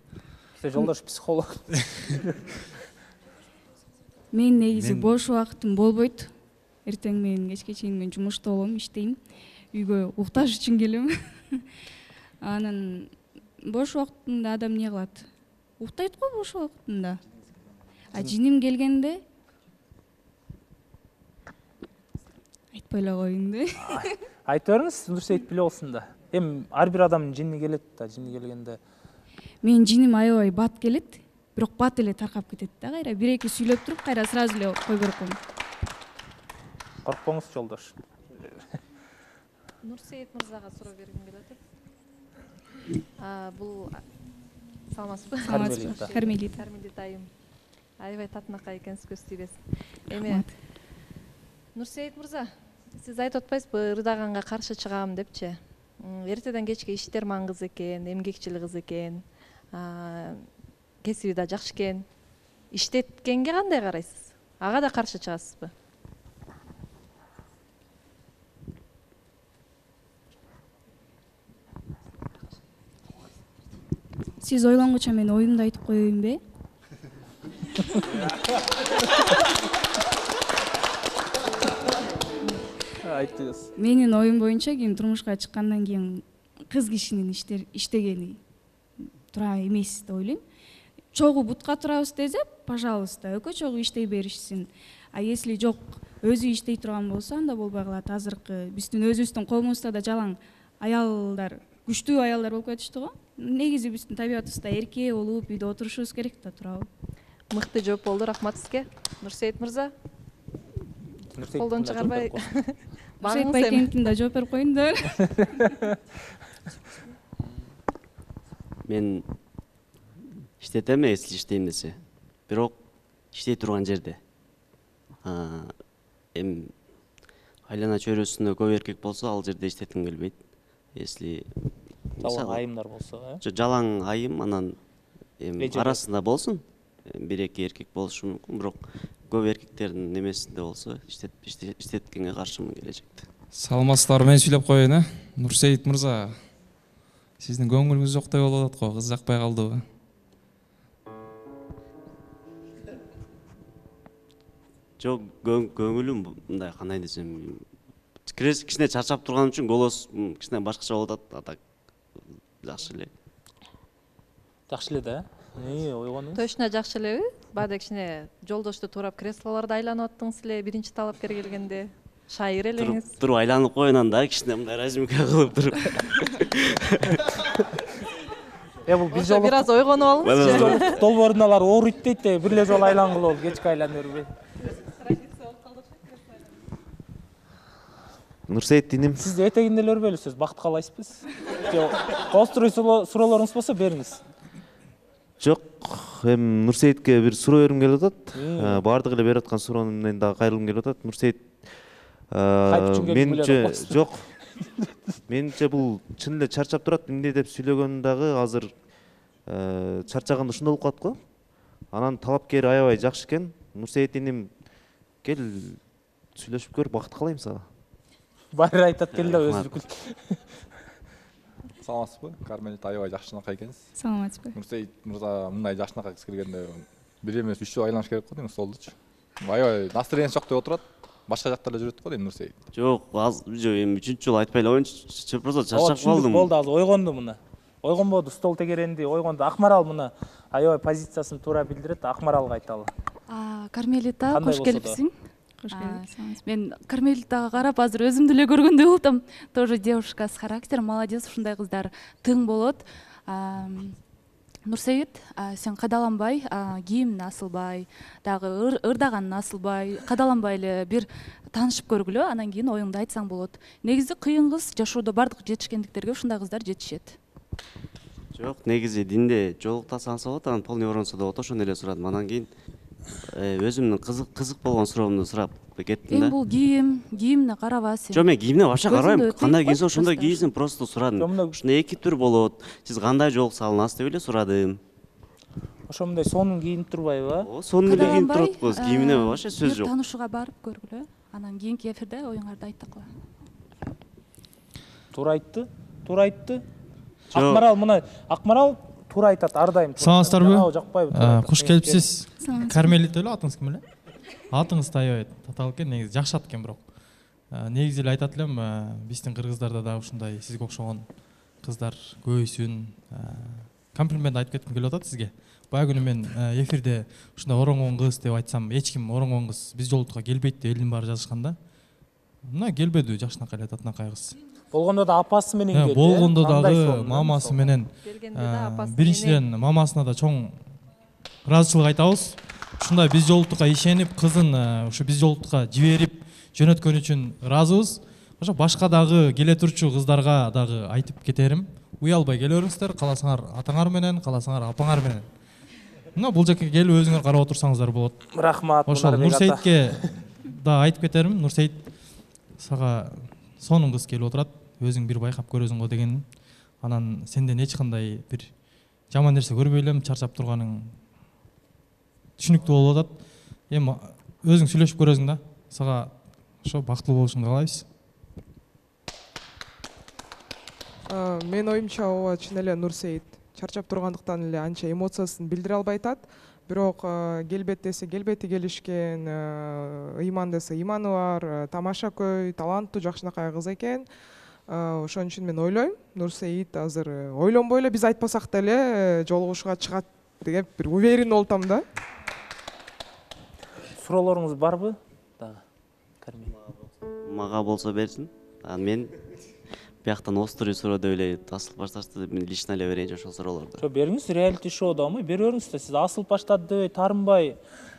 Сиз жолдош психолог. Мен негизи бош убактым болбойт. Эртең менен кечке чейин мен жумушта болом, иштейм. Үйгө укташ үчүн келем. Анан бош убактында адам эмне кылат? Уктайт го бош убактында. А жиним келгенде айтпай эле коеюн да. Айтып бериңиз, Нурсейит биле болсун да. Эми ар бир адамдын жини келет да, жини келгенде. Менин жиним аябай бат келет, бирок бат эле таркап кетет да кайра. Бир эки сүйлөп туруп, кайра сразу эле кой берип коем. Коркпоңуз жолдош. Нурсейит мырзага суроо бергим келип атат. А бул саламатсызбы? Саламатсызбы. Кармелита. Кармелита айым. Аябай татынакай экенсиз, көз тийбес. Эми Нурсейит мырза, сиз айтып атпайсызбы, ырдаганга каршы чыгам депчи. Эртеден кечке иштер маңгыз экен, эмгекчил кыз экен, кесиби да жакшы экен. Иштеткенге кандай карайсыз? Ага да каршы чыгасызбы? Сиз ойлонгуча мен оюмду айтып коеюнбу? Айтыңыз. Менин оюм боюнча кийин турмушка чыккандан кийин кыз кишинин иштегени туура эмес деп ойлойм. Чогуу бутка турабыз десе, пожалуйста, экөө чогуу иштей беришсин. А если жок, өзү иштей турган болсо, анда болбой калат. Азыркы биздин өзүбүздүн коомубузда да жалаң аялдар, күчтүү аялдар болуп кетишти го. Негизи биздин табиятыбызда эрке болуп, үйдө отурушубуз керек да, туурабы? Мыкты жооп болду, рахмат сизге. Нурсейит мырза. Колдон чыгарбай. Нурсейит байкеңкин да жооп берип коеюн да. Мен иштетем, если иштейм десе. Бирок иштей турган жерде. Эми айлана чөйрөсүндө көп эркек болсо, ал жерде иштетким келбейт. Если жалаң айымдар болсо, э? Жалаң айым, анан эми арасында болсун. Бир эки эркек болушу мүмкүн, бирок көп эркектердин немесинде болсо, иштеткенге каршымын келечекте. Саламатсыздарбы, мен сүйлөп коеюн, э? Нурсейит мырза, сиздин көңүлүңүз жоктой болуп атат го, кыз жакпай калдыбы? Жок, көңүлүм мындай кандай десем, кичине чарчап турган үчүн голос кичине башкача болуп атат, а так жакшы эле. Жакшы эле да, э? Ойгонуңуз? Точно жакшы элеби? Баада кичине жолдошту туурап креслолордо айланып аттыңыз эле, биринчи талапкер келгенде. Шайыр элеңиз. Туруп айланып коюнан да кичине мындай разминка кылып туруп. Э, бул биз жолу бир аз ойгонуп алыңызчы. Долбоордун алар ооруйт дейт да, бир эле жолу айлангыла болду, кечке айлана бербей. Нурсейит иним. Сиз этегинде эле өрбөйлүсүз, бакыт каалайсызбы? Жок, кооздуруй суроолоруңуз болсо бериңиз. Жок, эми Нурсеитке бир суроо бергим келип атат. Баардык эле берип аткан суроону менен дагы кайрылгым келип атат. Нурсейит, менимче жок. Менимче бул чын эле чарчап турат, эмне деп сүйлөгөн дагы азыр чарчаганда ушундай болуп калат го. Анан талапкери аябай жакшы экен. Нурсейит иним, кел сүйлөшүп көр, бакыт каалайм сага. Баары айтат кел да өзү бүкүл. Саламатсызбы? Кармелит аябай жакшынакай экенсиз. Саламатсызбы? Нурсейит мырза мындай жакшынакай кыз келгенде бир эмес үч жолу айланыш керек го дейм столдучу. Аябай настроениясы жоктой отурат. Башка жакта эле жүрөт го дейм Нурсейит. Жок, аз эми үчүнчү жолу айтпай эле коеюнчу. Просто чарчап калдым. Болду, азыр ойгонду мына. Ойгонбоду, стол тегеренди, ойгонду. Акмарал мына аябай позициясын туура билдирет, Акмаралга айталы. Кармелита, кош келипсиң. Кош келип. Мен Кармелитага карап азыр өзүмдү эле көргөндөй болуп атам. Тоже девушка с характером, молодец, ушундай кыздар тың болот. Нурсейит, сен кадаланбай, кийимиң асылбай, дагы ырдаганың асылбай, кадаланбай эле бир таанышып көргүлө, анан кийин оюңду айтсаң болот. Негизи кыйын кыз, жашоодо бардык жетишкендиктерге ушундай кыздар жетишет. Жок, негизи динде жолуктасаңыз болот, анан полный оронсо да болот, ошону эле сурадым. Анан кийин өзүмдүн кызык кызык болгон суроомду сурап кеттим да. Эми бул кийим, кийимине караба сен. Жок, мен кийимине вообще карабайм. Кандай кийинсе ошондой кийсин, просто сурадым. Ушундай эки түр болот. Сиз кандай жолукса алынасыз деп эле сурадым. Ошондой сонун кийинип турбайбы? Ооба, сонун эле кийинип турат го. Кийимине вообще сөз жок. Таанышууга барып көргүлө. Анан кийинки эфирде оюңарды айттыкла. Туура айтты, туура айтты. Акмарал мына, Акмарал туура айтат ар дайым. Саламатсыздарбы? Куш келипсиз. Кармелит эле атыңыз ким эле? Атыңыз аябай татаал экен, негизи жакшы ат экен бирок. Негизи эле айтат элем, биздин кыргыздарда дагы ушундай сизге окшогон кыздар көбөйсүн. Комплимент айтып кетким келип атат сизге. Баягы күнү мен эфирде ушундай оронгон кыз деп айтсам, эч ким оронгон кыз биз жолдукка келбейт деп элдин баары жазышканда. Мына келбеди, жакшынакай эле татынакай кыз. Болгондо да апасы менен келди. Болгондо дагы мамасы менен. Биринчиден мамасына да чоң ыраазычылык айтабыз. Ушундай биз жолдукка ишенип, кызын ушу биз жолдукка жиберип жөнөткөн үчүн ыраазыбыз. Ошо башка дагы келе турчу кыздарга дагы айтып кетерим. Уялбай келиңиздер, кааласаңар атаңар менен, кааласаңар апаңар менен. Мына бул жака келип өзүңөр карап отурсаңыздар болот. Рахмат. Ошол Нурсеитке да айтып кетерим. Нурсейит, сага сонун кыз келип отурат. Өзүң бир байкап көрөсүң го деген. Анан сенден эч кандай бир жаман нерсе көрбөй элем, чарчап турганың түшүнүктүү болуп атат. Эми өзүң сүйлөшүп көрөсүң да. Сага ошо бактылуу болушуңду каалайбыз. Мен оюмча ооба чын эле Нурсейит чарчап тургандыктан эле анча эмоциясын билдире албай атат. Бирок келбет десе келбети келишкен, ыйман десе ыйманы бар, тамаша көй, таланттуу, жакшынакай кыз экен. Ошон үчүн мен ойлойм, Нурсейит азыр ойлонбой эле биз айтпасак деле жолугушууга чыгат деп бир уверен болуп атам да. Суроолоруңуз барбы? Дагы. Кармелит. Мага болсо берсин. Анан мен бияктан острый суроо деп эле асылып башташты деп мен лично эле берейинчи ошол суроолорду. Жок, бериңиз, реалити шоудамы? Бере бериңиз да, сиз асылып баштады дебей, таарынбай.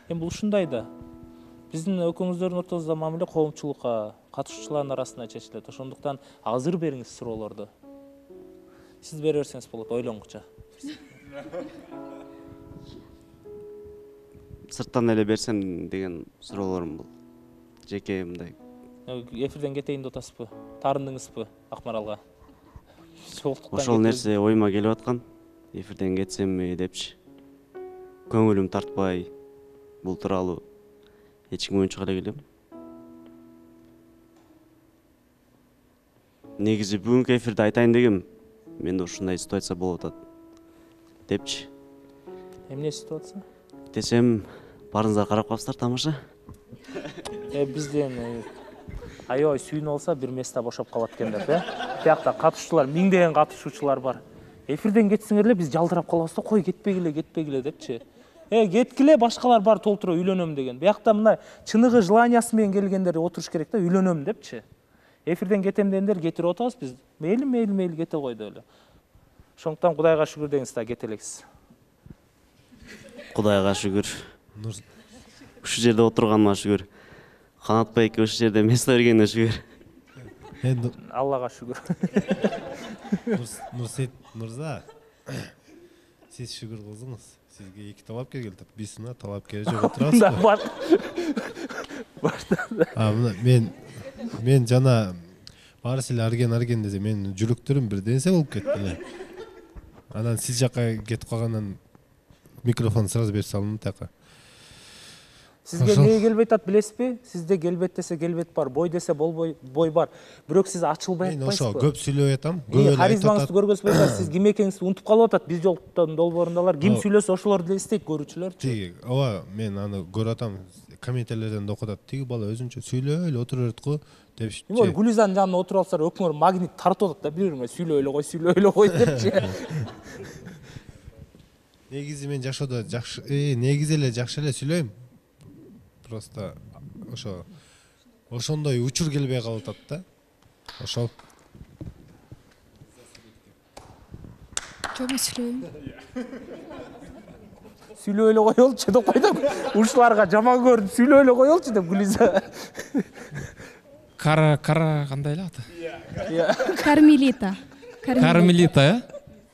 Эми бул ушундай да. Биздин экөөңүздөрдүн ортосунда мамиле коомчулукка, катышуучулардын арасында чечилет. Ошондуктан азыр бериңиз суроолорду. Сиз бере берсеңиз болот, ойлоңгуча. Сырттан эле берсем деген суроолорум бул. Жеке мындай. Эфирден кетейин деп атасызбы? Таарындыңызбы Акмаралга? Ошол нерсе оюма келип аткан. Эфирден кетсемби депчи. Көңүлүм тартпай бул тууралуу эч ким оюнчук эле келем. негизи бүгүнкү эфирде айтайын дегем, менде ушундай ситуация болуп атат депчи. Эмне ситуация? Десем, барыңыздар карап калыпсыздар тамаша. Э бизден аябай сүйүнүп алса бир места бошоп калат экен деп, э? Биякта катышуучулар, миңдеген катышуучулар бар. Эфирден кетсиңер эле биз жалдырап калабыз да, кой кетпегиле, кетпегиле депчи. Э, кеткиле, башкалар бар толтуруп үйлөнөм деген. Биякта мына чыныгы желаниясы менен келгендер отуруш керек да, үйлөнөм депчи. Эфирден кетем дегендер кетирип атабыз биз. Мейли, мейли, мейли кете кой деп эле. Ошондуктан Кудайга шүгүр деңиз да, кете элексиз. Кудайга шүгүр. Ушул жерде отурганыма шүгүр. Канат байке ушул жерде место бергенине шүгүр. Аллага шүгүр. Нурсейит мырза, сиз шүгүр кылдыңыз. Сизге эки талапкер келди. Биз мына талапкер жок отурабызбы? А мына мен мен жана баары силе арген арген десе менин жүрөктөрүм бир нерсе болуп кетти эле. Анан сиз жака кетип калгандан микрофон сразу берип салдым тияка. Сизге эмне келбей атат билесизби? Сизде келбет десе келбет бар, бой десе болбой бой бар. Бирок сиз ачылбай атпайсызбы? Мен ошо көп сүйлөп атам. Көп эле айтып атат. Харизмаңызды көргөзбөй атат. Сиз ким экениңизди унутуп калып атат. Биз жолуктун долбоорундалар ким сүйлөсө ошолорду деле эстейт көрүүчүлөр. Тиги, ооба, мен аны көрүп атам. Комментарийлерден да окуп атат. Тиги бала өзүнчө сүйлөп эле отура берет го депчи. Эми Гүлизанын жанына отуруп алсалар, өкмөр магнит тартып атат да, бири-бирине сүйлөп эле кой, сүйлөп эле кой депчи. Негизи мен жашоодо жакшы, э, негизи эле жакшы эле сүйлөйм. Просто ошо ошондой учур келбей калып атат да. Ошол. Чоң сүйлөйм. Сүйлөп эле коелчу деп койду. Ушуларга жаман көрүп сүйлөп эле коелчу деп Гүлиза. Кара кара кандай эле аты? Кармелита. Кармелита, э?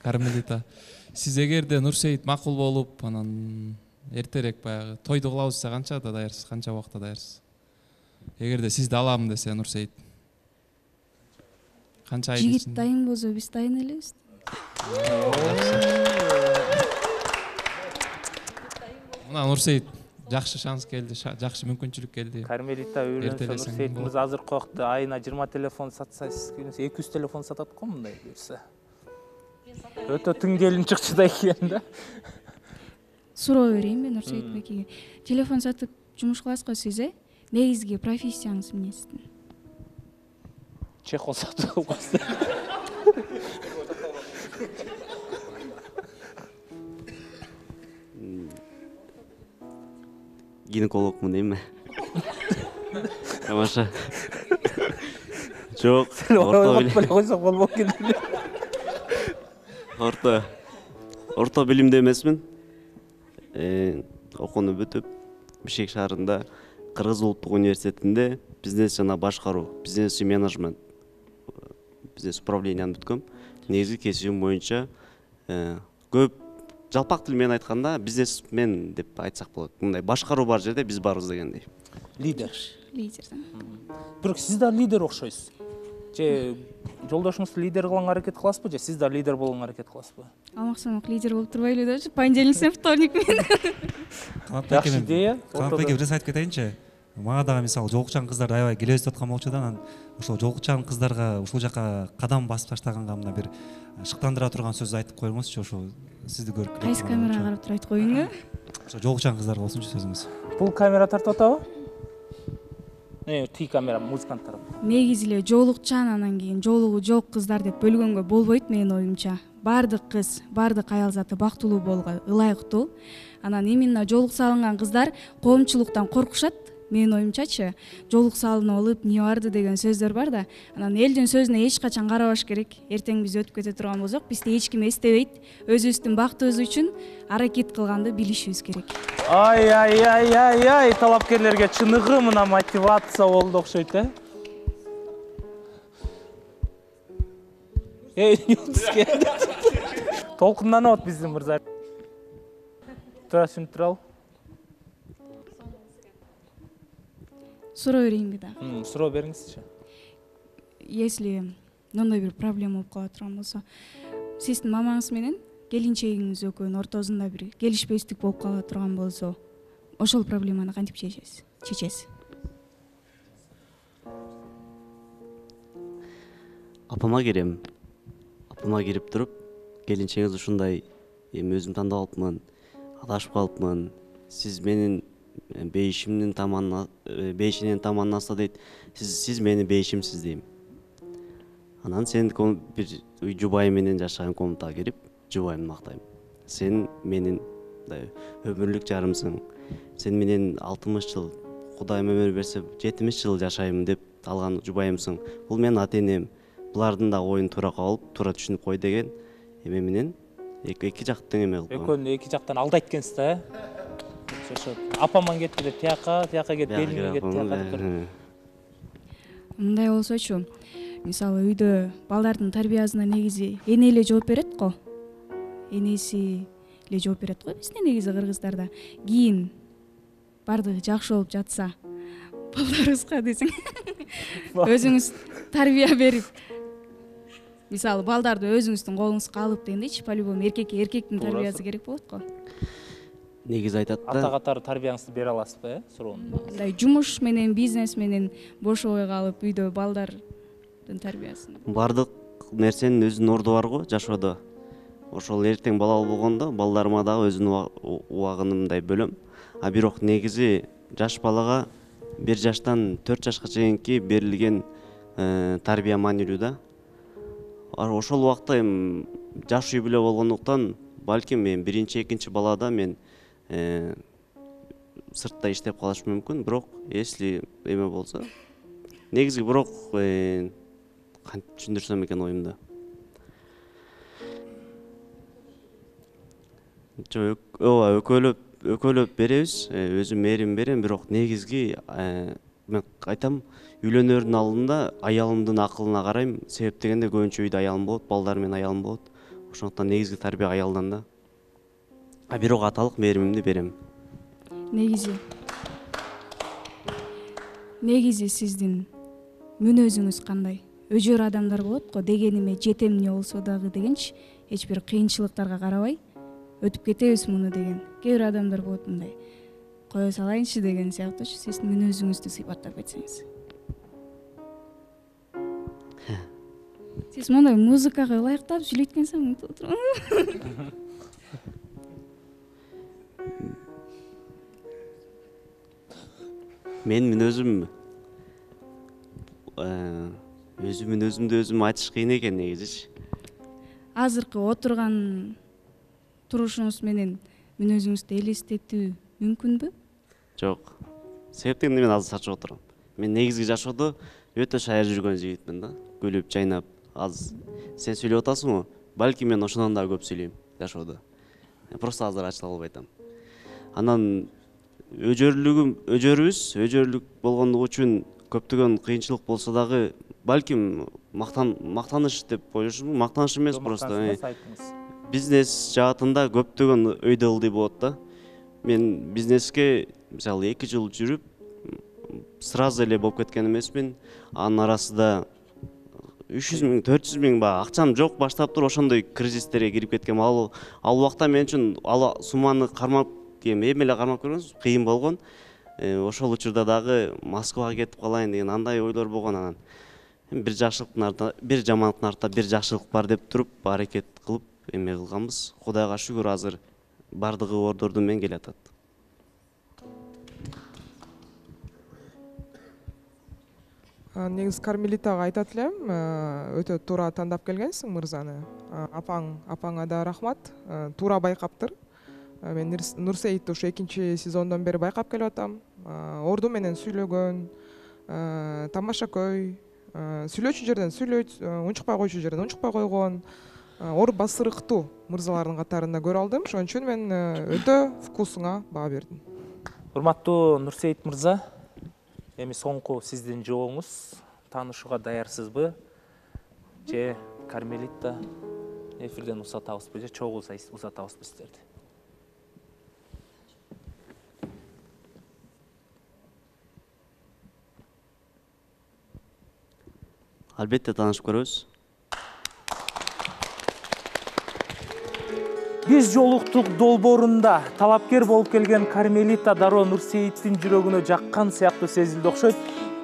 Кармелита. Сиз эгерде Нурсейит макул болуп, анан эртерээк баягы тойду кылабыз десе канчада даярсыз, канча убакытта даярсыз? Эгерде сизди алам десе Нурсейит. Канча айдын Жигит ичинде? дайын болсо биз дайын элебиз. Мына Нурсейит жакшы шанс келди, жакшы мүмкүнчүлүк келди. Кармелита үйлөнсө Нурсейит мырза азыркы убакта айына жыйырма телефон сатсаңыз, эки жүз телефон сатат го мындай берсе. Өтө тың келин чыкчу да экен да. Суроо берейин мен Нурсейит байкеге. Телефон сатып жумуш кыласыз го сиз, э? Негизги профессияңыз эмне сиздин? Чехол сатып койсуз. Гинекологмун дейм. Тамаша. Жок. Орто койсок болбок экен. Орто. Орто билимде эмесмин. Э, окууну бүтүп, Бишкек шаарында Кыргыз улуттук университетинде бизнес жана башкаруу, бизнес и менеджмент, бизнес управленияны бүткөм. Негизги кесибим боюнча көп жалпак тил менен айтканда бизнесмен деп айтсак болот. Мындай башкаруу бар жерде биз барбыз дегендей. Лидер. Лидер. Бирок сиз да лидер окшойсуз. Же жолдошуңузду лидер кылганга аракет кыласызбы, же сиз да лидер болгонго аракет кыласызбы? Алмаксамак лидер болуп турбайлы депчи, понедельник менен вторник менен. Жакшы идея. Канатбайке бир нерсе айтып кетейинчи. Мага дагы мисалы жолукчан кыздар аябай келебиз деп аткан болчу да, анан ошол жолукчан кыздарга ушул жака кадам басып таштаганга мына бир шыктандыра турган сөз айтып коюңузчу, ошо сизди көрүп. Кайсы камерага карап туруп айтып коюң, э? Ошо жолукчан кыздарга болсунчу сөзүңүз. Бул камера тартып атабы? Э, ти камера музыканттар. Негизи эле жолукчан анан кийин жолугу жок кыздар деп бөлгөнгө болбойт менин оюмча. Бардык кыз, бардык аял заты бактылуу болууга ылайыктуу. Анан именно жолук салынган кыздар коомчулуктан коркушат. Менин оюмчачы, жолук салынып алып, эмне барды деген сөздөр бар да. Анан элдин сөзүнө эч качан карабаш керек. Эртең биз өтүп кете турган болсок, бизди эч ким эстебейт. Өзүбүздүн бактыбыз үчүн аракет кылганды билишибиз керек. Ай ай ай ай ай, талапкерлерге чыныгы мына мотивация болду окшойт, э? Эй, Юнуске. Толкунданып атат биздин мырза. Тура түшүнүп туралы. Суроо берейинби да? Суроо бериңизчи. Если мындай бир проблема болуп кала турган болсо, сиздин мамаңыз менен келинчегиңиз экөөнүн ортосунда бир келишпестик болуп кала турган болсо, ошол проблеманы кантип чечесиз? Чечесиз? апама кирем. Апама кирип туруп, келинчеңиз ушундай, эми өзүм тандап алыпмын, адашып калыпмын. Сиз менин бейишимдин таманына, бейишинен таманнаса дейт. Сиз сиз менин бейишимсиз дейм. Анан сен бир жубайым менен жашаган комнатага кирип, жубайымды мактайм. Сен менин өмүрлүк жарымсың. Сен менен алтымыш жыл, Кудайым өмүр берсе, жетимиш жыл жашайм деп алган жубайымсың. Бул менин ата-энем. Булардын да оюн туура кабыл, туура түшүнүп кой деген эме менен эки жактан эме кылып. Экөөнү эки жактан алдайт экенсиз да, э? Апаман кетти деп тияка, тияка кетти, келиниме кетти тияка деп. Мындай болсочу, мисалы үйдө балдардын тарбиясына негизи эне эле жооп берет го. Энеси эле жооп берет го бизде негизи кыргыздарда. Кийин бардыгы жакшы болуп жатса, балдарыбызга десең өзүңүз тарбия берип, мисалы балдарды өзүңүздүн колуңузга алып дегендейчи, по-любому эркекке эркектин тарбиясы керек болот го. Негизи айтат да. Ата катары тарбияңызды бере аласызбы, э? Суроону. Мындай жумуш менен, бизнес менен бошобой калып, үйдө балдардын тарбиясын. Бардык нерсенин өзүнүн орду бар го жашоодо. Ошол эртең балалуу болгондо балдарыма дагы өзүнүн убагын мындай бөлөм. А бирок негизи жаш балага бир жаштан төрт жашка чейинки берилген тарбия маанилүү да. Ошол убакта эми жаш үй бүлө болгондуктан балким мен биринчи, экинчи балада мен сыртта иштеп калышым мүмкүн, бирок если эме болсо, негизи бирок кантип түшүндүрсөм экен оюмду. Жок, ооба, экөөлөп экөөлөп беребиз, өзүм мээрим берем, бирок негизги мен айтам, үйлөнөрдүн алдында аялымдын акылына карайм. Себеп дегенде көбүнчө үйдө аялым болот, балдар менен аялым болот. Ошондуктан негизги тарбия аялдан да. А бирок аталык мээримимди берем. Негизи негизи сиздин мүнөзүңүз кандай? Өжөр адамдар болот го, дегениме жетем эмне болсо дагы дегенчи, эч бир кыйынчылыктарга карабай өтүп кетебиз муну деген. Кээ бир адамдар болот мындай. Кое салайынчы деген сыяктуучу, сиздин мүнөзүңүздү сыйпаттап кетсеңиз. Сиз мондай музыкага ылайыктап сүйлөйт экенсиң. Мен мүнөзүм өзүм мүнөзүмдү өзүм айтыш кыйын экен негизичи. Азыркы отурган турушуңуз менен мүнөзүңүздү элестетүү мүмкүнбү? Жок. Себеп дегенде мен азыр сачып отурам. Мен негизги жашоодо өтө шаяр жүргөн жигитмин да. Күлүп, жайнап, аз сен сүйлөп атасың го, балки мен ошондон да көп сүйлөйм жашоодо. Просто азыр ачыла албай атам. Анан өжөрлүгүм, өжөрүбүз, өжөрлүк болгондугу үчүн көптөгөн кыйынчылык болсо дагы балким мактан мактаныш деп ойлошумун, мактаныш эмес, просто бизнес жаатында көптөгөн өйдө ылдый болот да. Мен бизнеске мисалы эки жыл жүрүп, сразу эле болуп кеткен эмесмин. Анын арасында үч жүз миң, төрт жүз миң ба акчам жок баштап туруп ошондой кризистерге кирип кеткем. Ал ал убакта мен үчүн ал сумманы кармап, эми эле кармап көргөнбүз, кыйын болгон. Ошол учурда дагы Москвага кетип калайын деген андай ойлор болгон. Анан бир жакшылыктын артында, бир жамандыктын артында бир жакшылык бар деп туруп, аракет кылып эме кылганбыз. Кудайга шүгүр, азыр бардыгы ордорду менен келатат. Негизи Кармелитага айтат элем, өтө туура тандап келгенсиң мырзаны. Апаң, апаңа да рахмат. Туура байкаптыр. Мен Нурсейитти ушу экинчи сезондон бери байкап келип атам. Орду менен сүйлөгөн, тамашакөй, сүйлөөчү жерден сүйлөйт, унчукпай койчу жерден унчукпай койгон, ор басырыктуу мырзалардын катарында көрө алдым. Ошон үчүн мен өтө вкусуңа баа бердим. Урматтуу Нурсейит мырза, эми соңку сиздин жооңуз, таанышууга даярсызбы? Же Кармелита эфирден узатабызбы, же чогуу узатабызбы сиздерди? Албетте таанышып көрөбүз. Биз жолуктук долбоорунда талапкер болуп келген Кармелита дароо Нурсейиттин жүрөгүнө жаккан сыяктуу сезилди окшойт.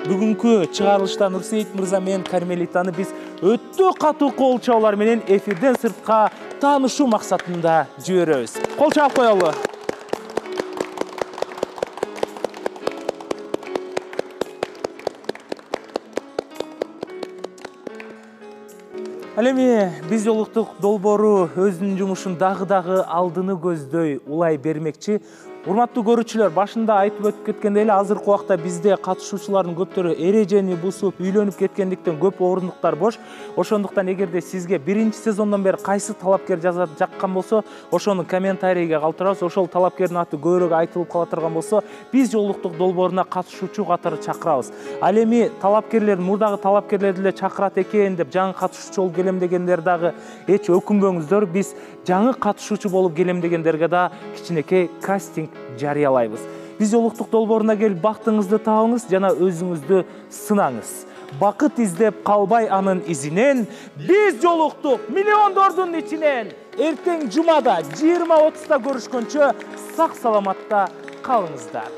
Бүгүнкү чыгарылышта Нурсейит мырза менен Кармелитаны биз өтө катуу кол чабуулар менен эфирден сыртка таанышуу максатында жиберебиз. Кол чаап коелу. Ал эми биз жолуктук долбоору өзүнүн жумушун дагы дагы алдыны көздөй улай бермекчи. Урматтуу көрүүчүлөр, башында айтып өтүп кеткендей эле азыркы убакта бизде катышуучулардын көптөрү эрежени бузуп, үйлөнүп кеткендиктен көп орундуктар бош. Ошондуктан эгерде сизге биринчи сезондон бери кайсы талапкер жазат жаккан болсо, ошону комментарийге калтырабыз. Ошол талапкердин аты көбүрөөк айтылып кала турган болсо, биз жолуктук долбооруна катышуучу катары чакырабыз. Ал эми талапкерлер мурдагы талапкерлерди эле чакырат экен деп жаңы катышуучу болуп келем дегендер дагы эч өкүнбөңүздөр. Биз жаңы катышуучу болуп келем дегендерге да кичинекей кастинг жарыялайбыз. Биз жолуктук долбооруна келип бактыңызды табыңыз жана өзүңүздү сынаңыз. Бакыт издеп калбай анын изинен, биз жолуктук миллиондордун ичинен. Эртең жумада жыйырма отузда көрүшкөнчө сак саламатта калыңыздар.